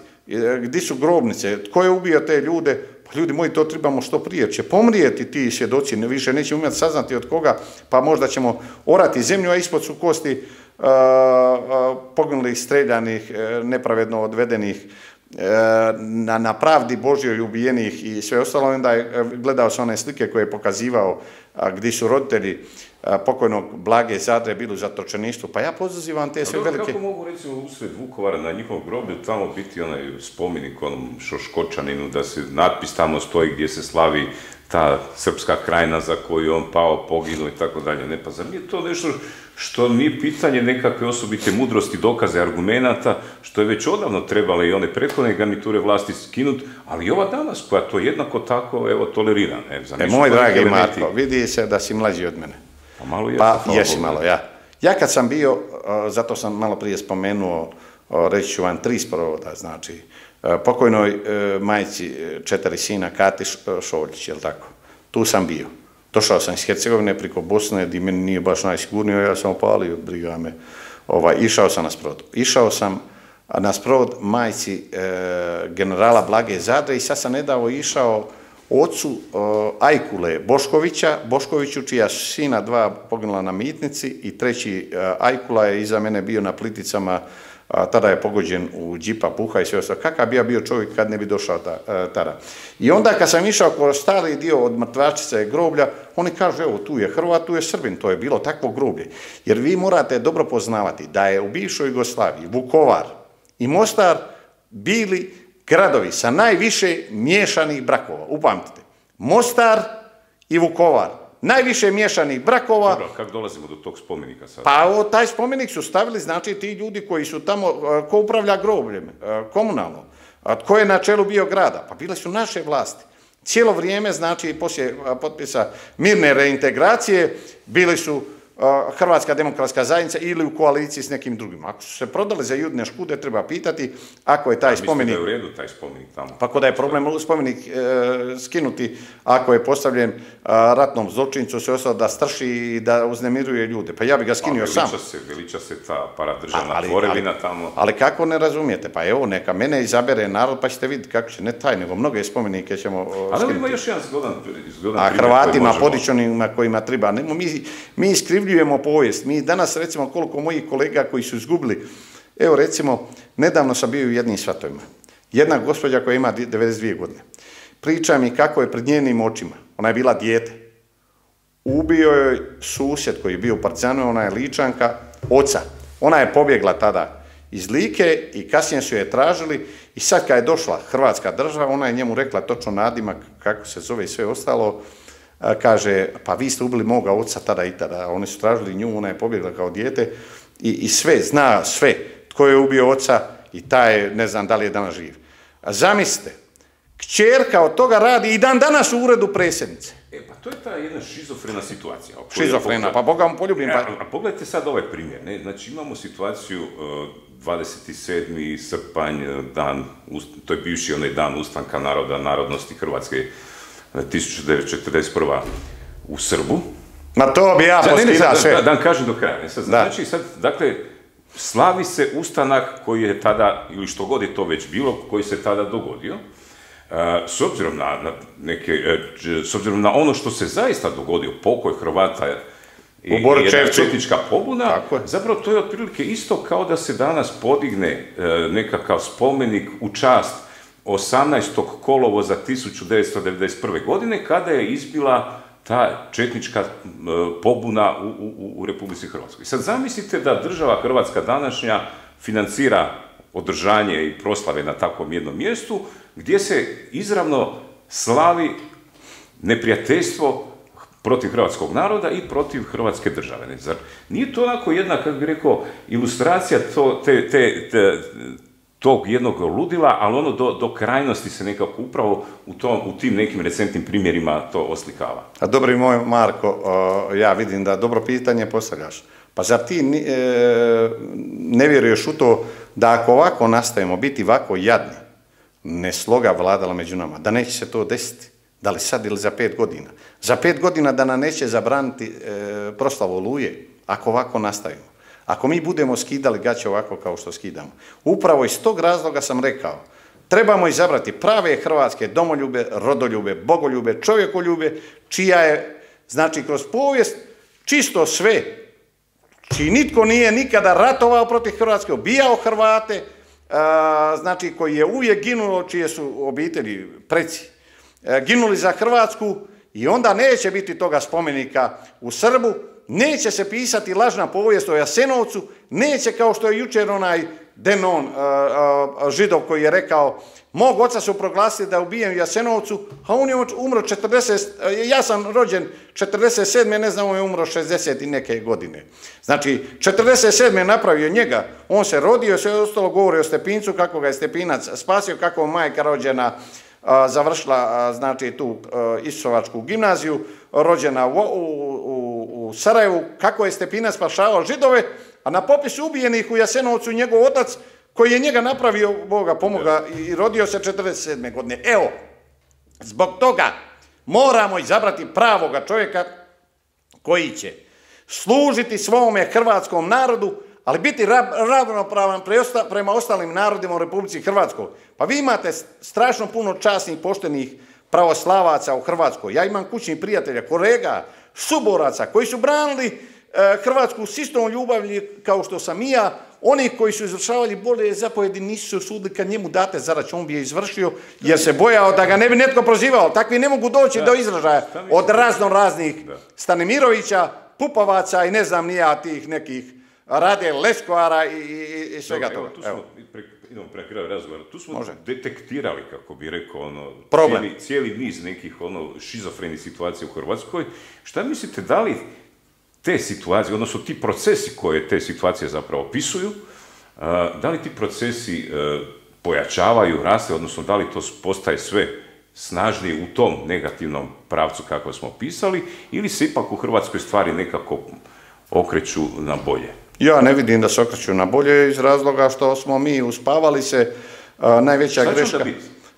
gdje su grobnice, tko je ubio te ljude, pa ljudi moji, to trebamo što prije. Će pomrijeti ti svjedoci, ne više nećemo imati saznati od koga, pa možda ćemo orati zemlju, a ispod su kosti uh, uh, poginulih, streljanih, uh, nepravedno odvedenih, uh, na, na pravdi Božjoj ubijenih i sve ostalo. Onda je, gledao sam one slike koje je pokazivao uh, gdje su roditelji uh, pokojnog Blage Zadre bili u zatočeništvu. Pa ja pozivam te sve dobro, velike... Kako mogu recimo usred Vukovara na njihovom groblju tamo biti onaj spomenik onom Šoškočaninu, da se natpis tamo stoji gdje se slavi ta srpska krajina za koju je on pao, poginuo i tako dalje. Ne, pa zar nije to nešto što nije pitanje nekakve osobite mudrosti, dokaze, argumenata, što je već odavno trebale i one prethodne garniture vlasti skinuti, ali i ova danas koja to jednako tako, evo, tolerira. Ne, e, moj dragi Marko, vidi se da si mlađi od mene. Pa malo je. Pa jesi malo, ja. Ja kad sam bio, zato sam malo prije spomenuo, reći ću vam tri sprovoda, znači, pokojnoj majci četiri sina Kati Šoljić, jel tako? Tu sam bio. Došao sam iz Hercegovine preko Bosne, gdje meni nije baš najsigurnije, ja sam opalio, briga me. Ovaj, išao sam na sprovod. Išao sam na sprovod majci e, generala Blage Zadre i sad sam nedavno išao ocu e, Ajkule Boškovića, Boškoviću, čija su sina dva poginula na Mitnici i treći e, Ajkula je iza mene bio na Pliticama, a, tada je pogođen u džipa, puha i sve ostalo. Kakav bi ja bio čovjek kad ne bi došao ta, a, tada? I onda kad sam išao kroz stari dio od mrtvačice groblja, oni kažu, evo, tu je Hrvat, tu je Srbin, to je bilo takvo groblje. Jer vi morate dobro poznavati da je u bivšoj Jugoslaviji Vukovar i Mostar bili gradovi sa najviše miješanih brakova. Upamtite, Mostar i Vukovar. Najviše miješanih brakova. Dobro, kako dolazimo do tog spomenika sad? Pa o, taj spomenik su stavili, znači, ti ljudi koji su tamo, ko upravlja grobljem, komunalno, tko je na čelu bio grada, pa bile su naše vlasti. Cijelo vrijeme, znači, poslije potpisa mirne reintegracije, bili su Hrvatska demokratska zajednica ili u koaliciji s nekim drugim. Ako su se prodali za Judine škude, treba pitati ako je taj spomenik... Mislite da je u redu taj spomenik tamo? Pa ko da je problem spomenik skinuti ako je postavljen ratnom zločincu, sve ostalo da strši i da uznemiruje ljude. Pa ja bi ga skinio sam. Veliča se, veliča se ta paradržavna tvorevina tamo. Ali kako ne razumijete? Pa evo, neka mene izabere narod pa ćete vidjeti kako će, ne taj, nego mnoge spomenike ćemo skinuti. Ali ima još jedan zgodan primjer. A Hrvatima, podičonima kojima treba. Mi iskrivljujemo povijest. Mi danas, recimo, koliko mojih kolega koji su izgubili, evo recimo, nedavno sam bio u jednim svatovima. Jedna gospođa koja ima devedeset dvije godine. Priča mi kako je pred njenim očima, ona je bila dijete, ubio joj susjed koji je bio u Partizanu, ona je Ličanka, oca. Ona je pobjegla tada iz Like i kasnije su je tražili i sad kad je došla Hrvatska država, ona je njemu rekla točno nadimak, kako se zove i sve ostalo, kaže, pa vi ste ubili moga oca tada i tada, oni su tražili nju, ona je pobjegla kao dijete i, i sve, zna sve, tko je ubio oca i taj, ne znam da li je danas živ. A zamislite, kćerka od toga radi i dan danas u uredu predsjednice. E, pa to je ta jedna šizofrena situacija. Šizofrena, pa Boga vam poljubim. Pa... A pogledajte sad ovaj primjer, ne? Znači imamo situaciju dvadeset sedmi srpanj, dan, to je bivši onaj dan ustanka naroda, narodnosti Hrvatske, tisuću devetsto četrdeset prva u Srbu. Ma to bi ja poskidao sve. Da, da kažem do kraja. Sad, znači sad, dakle, slavi se ustanak koji je tada, ili što god je to već bilo, koji se tada dogodio. S obzirom na, na neke, s obzirom na ono što se zaista dogodio, pokoj Hrvata i jedna četnička pobuna, zapravo to je otprilike isto kao da se danas podigne nekakav spomenik u čast osamnaestog kolovoza tisuću devetsto devedeset prve. godine, kada je izbila ta četnička pobuna u, u, u Republici Hrvatskoj. Sad zamislite da država Hrvatska današnja financira održanje i proslave na takvom jednom mjestu, gdje se izravno slavi neprijateljstvo protiv hrvatskog naroda i protiv Hrvatske države. Ne? Zar nije to onako jedna, kako bih rekao, ilustracija to, te, te, te, tog jednog ludila, ali ono do, do krajnosti se nekako upravo u, tom, u tim nekim recentnim primjerima to oslikava. A dobri moj Marko, ja vidim da dobro pitanje postavljaš. Pa zar ti ne vjeruješ u to da ako ovako nastavimo biti ovako jadni, ne sloga vladala među nama, da neće se to desiti, da li sad ili za pet godina. Za pet godina da nam neće zabraniti proslavu Oluje, ako ovako nastavimo. Ako mi budemo skidali gaće ovako kao što skidamo. Upravo iz tog razloga sam rekao, trebamo izabrati prave hrvatske domoljube, rodoljube, bogoljube, čovjekoljube, čija je, znači, kroz povijest čisto sve, čiji nitko nije nikada ratovao protiv Hrvatske, ubijao Hrvate, znači, koji je uvijek ginuo, čije su obitelji, preci, ginuli za Hrvatsku i onda neće biti toga spomenika u Srbu, neće se pisati lažna povijest o Jasenovcu, neće kao što je jučer onaj Denon, Židov, koji je rekao, mog oca su proglasili da je ubijen u Jasenovcu, a on je umro četrdeset, ja sam rođen četrdeset sedme, ne znam, on je umro šezdeset i neke godine. Znači, četrdeset sedme je napravio njega, on se rodio, sve ostalo govori o Stepincu, kako ga je Stepinac spasio, kako je majka rođena, završila, znači, tu Isusovačku gimnaziju, rođena u, u, u Sarajevu, kako je Stepinac spašavao Židove, a na popisu ubijenih u Jasenovcu njegov otac, koji je njega napravio, Boga pomoga, i rodio se četrdeset sedme godine. Evo, zbog toga moramo izabrati pravoga čovjeka koji će služiti svome hrvatskom narodu, ali biti ravnopravan prema ostalim narodima u Republici Hrvatskoj. Pa vi imate strašno puno časnih, poštenih pravoslavaca u Hrvatskoj. Ja imam kućnih prijatelja, kolega, suboraca, koji su branili Hrvatsku s istom ljubavlji kao što sam i ja. Oni koji su izvršavali bolje zapovjedi nisu se usudili kad njemu date zadaću, on bi je izvršio, jer se bojao da ga ne bi netko prozivao. Takvi ne mogu doći do izražaja od razno raznih Stanimirovića, Pupovaca i ne znam nija tih nekih Rade Leskoara i, i, i svega toga. Tu smo, pre, idemo pre kraja razgovora, tu smo Može. detektirali, kako bi rekao, ono, cijeli, cijeli niz nekih ono, šizofrenih situacija u Hrvatskoj. Šta mislite, da li te situacije, odnosno ti procesi koje te situacije zapravo opisuju, da li ti procesi pojačavaju, raste, odnosno da li to postaje sve snažnije u tom negativnom pravcu kako smo opisali, ili se ipak u Hrvatskoj stvari nekako okreću na bolje? Ja ne vidim da se okreću na bolje iz razloga što smo mi uspavali se. Najveća greška...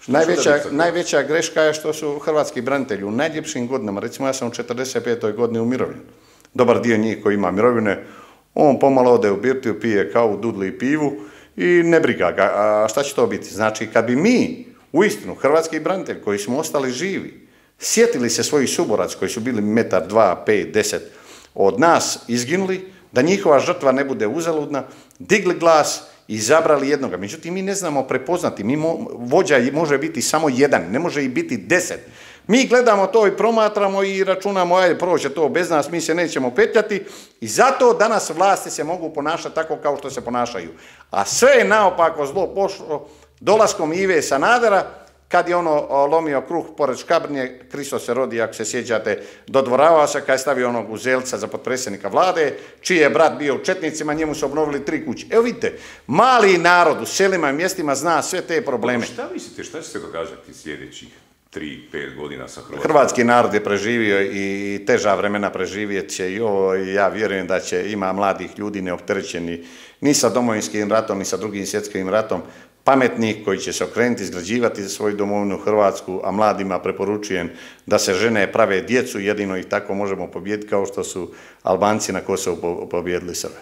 Najveća, najveća greška je što su hrvatski branitelji u najljepšim godinama, recimo ja sam u četrdeset petoj godini umirovljen. Dobar dio njih koji ima mirovine, on pomalo ode u birtiju, pije kavu, dudli i pivu i ne briga ga. A šta će to biti? Znači, kad bi mi, uistinu, hrvatski branitelji koji smo ostali živi, sjetili se svojih suboraca koji su bili metar, dva, pet, deset od nas izginuli, da njihova žrtva ne bude uzaludna, digli glas, izabrali jednoga. Međutim, mi ne znamo prepoznati. Mi mo, vođa može biti samo jedan, ne može i biti deset. Mi gledamo to i promatramo i računamo, ajde, proće to bez nas, mi se nećemo petljati i zato danas vlasti se mogu ponašati tako kao što se ponašaju. A sve je naopako zlo pošlo dolaskom Ive Sanadera, kad je ono lomio kruh pored Škabrnje, Kristo se rodi, ako se sjećate, dodvoravao se kad je stavio onog Uzelca za potpredsjednika vlade, čiji je brat bio u Četnicima, njemu su obnovili tri kuće. Evo vidite, mali narod u selima i mjestima zna sve te probleme. Šta mislite, šta će se događati sljedećih tri, pet godina sa Hrvatskom? Hrvatski narod je preživio i teža vremena preživjet će i ovo, i ja vjerujem da će ima mladih ljudi neopterećeni ni sa Domovinskim ratom, ni sa Drugim svjetskim ratom, pametnih koji će se okrenuti, izgrađivati svoju domovinu Hrvatsku, a mladima preporučujem da se žene prave djecu, jedino ih tako možemo pobijediti kao što su Albanci na Kosovu pobijedili Srbe.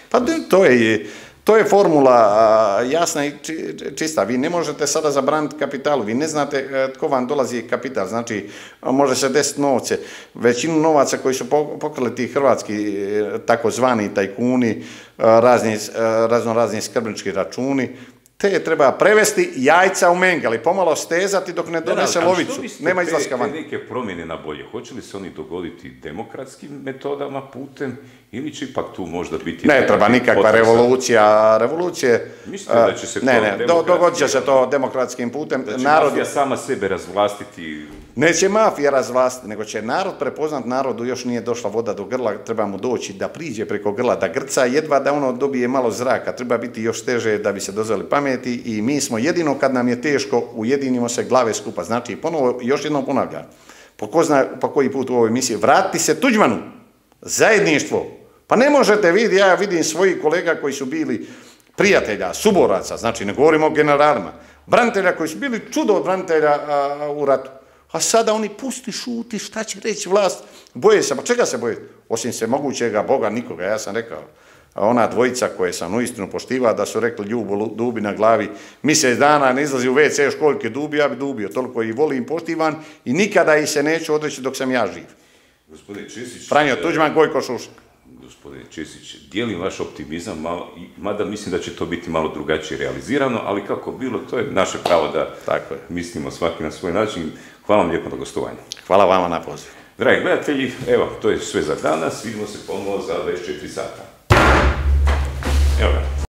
Pa to je, to je formula jasna i čista. Vi ne možete sada zabraniti kapitalu, vi ne znate tko vam dolazi kapital, znači može se desiti novce. Većinu novaca koji su pokrali ti hrvatski takozvani tajkuni, razni, razno razni skrbnički računi, te treba prevesti jajca u mengali, pomalo stezati dok ne donese lovicu. Nema izlaska van. Te neke promjene na bolje, hoće li se oni dogoditi demokratskim metodama, putem, ili će ipak tu možda biti... Ne treba nikakva revolucija. Revolucije... Mislite da će se to... Ne, ne, dogodit će se to demokratskim putem. Da će mafija sama sebe razvlastiti... Neće mafija razvlastiti, nego će narod prepoznat, narodu još nije došla voda do grla, treba mu doći da priđe preko grla, da grca, jedva da ono dobije malo zraka, treba biti još teže da bi se dozvali pameti i mi smo jedino kad nam je teško, ujedinimo se glave skupa. Znači, ponovo, još jednom ponavljam, po ko zna pa koji put u ovoj emisiji, vratiti se Tuđmanu, zajedništvo. Pa ne možete vidjeti, ja vidim svojih kolega koji su bili prijatelja, suboraca, znači ne govorimo o generalima, branitelja koji su bili čudo od branitelja a, u ratu. A sada oni pusti, šuti, šta će reći vlast, boje se, pa čega se boje? Osim se mogućega Boga nikoga, ja sam rekao. A ona dvojica koje sam uistinu poštivao da su rekli Ljubo dubi na glavi, mjesec dana ne izlazi u ve ce školjke dubi, ja bi dubio, toliko i volim, poštivan i nikada ih se neću odreći dok sam ja živ. Gospodine Česić... Franjo Tuđman, Gojko Šušak. Gospodine Česić, dijelim vaš optimizam, malo, mada mislim da će to biti malo drugačije realizirano, ali kako bilo, to je naše pravo da Tako je. mislimo svaki na svoj način. Hvala vam lijepo na gostovanju. Hvala vama na poziv. Dragi gledatelji, evo, to je sve za danas. Vidimo se ponovo za dvadeset četiri sata. Evo ga.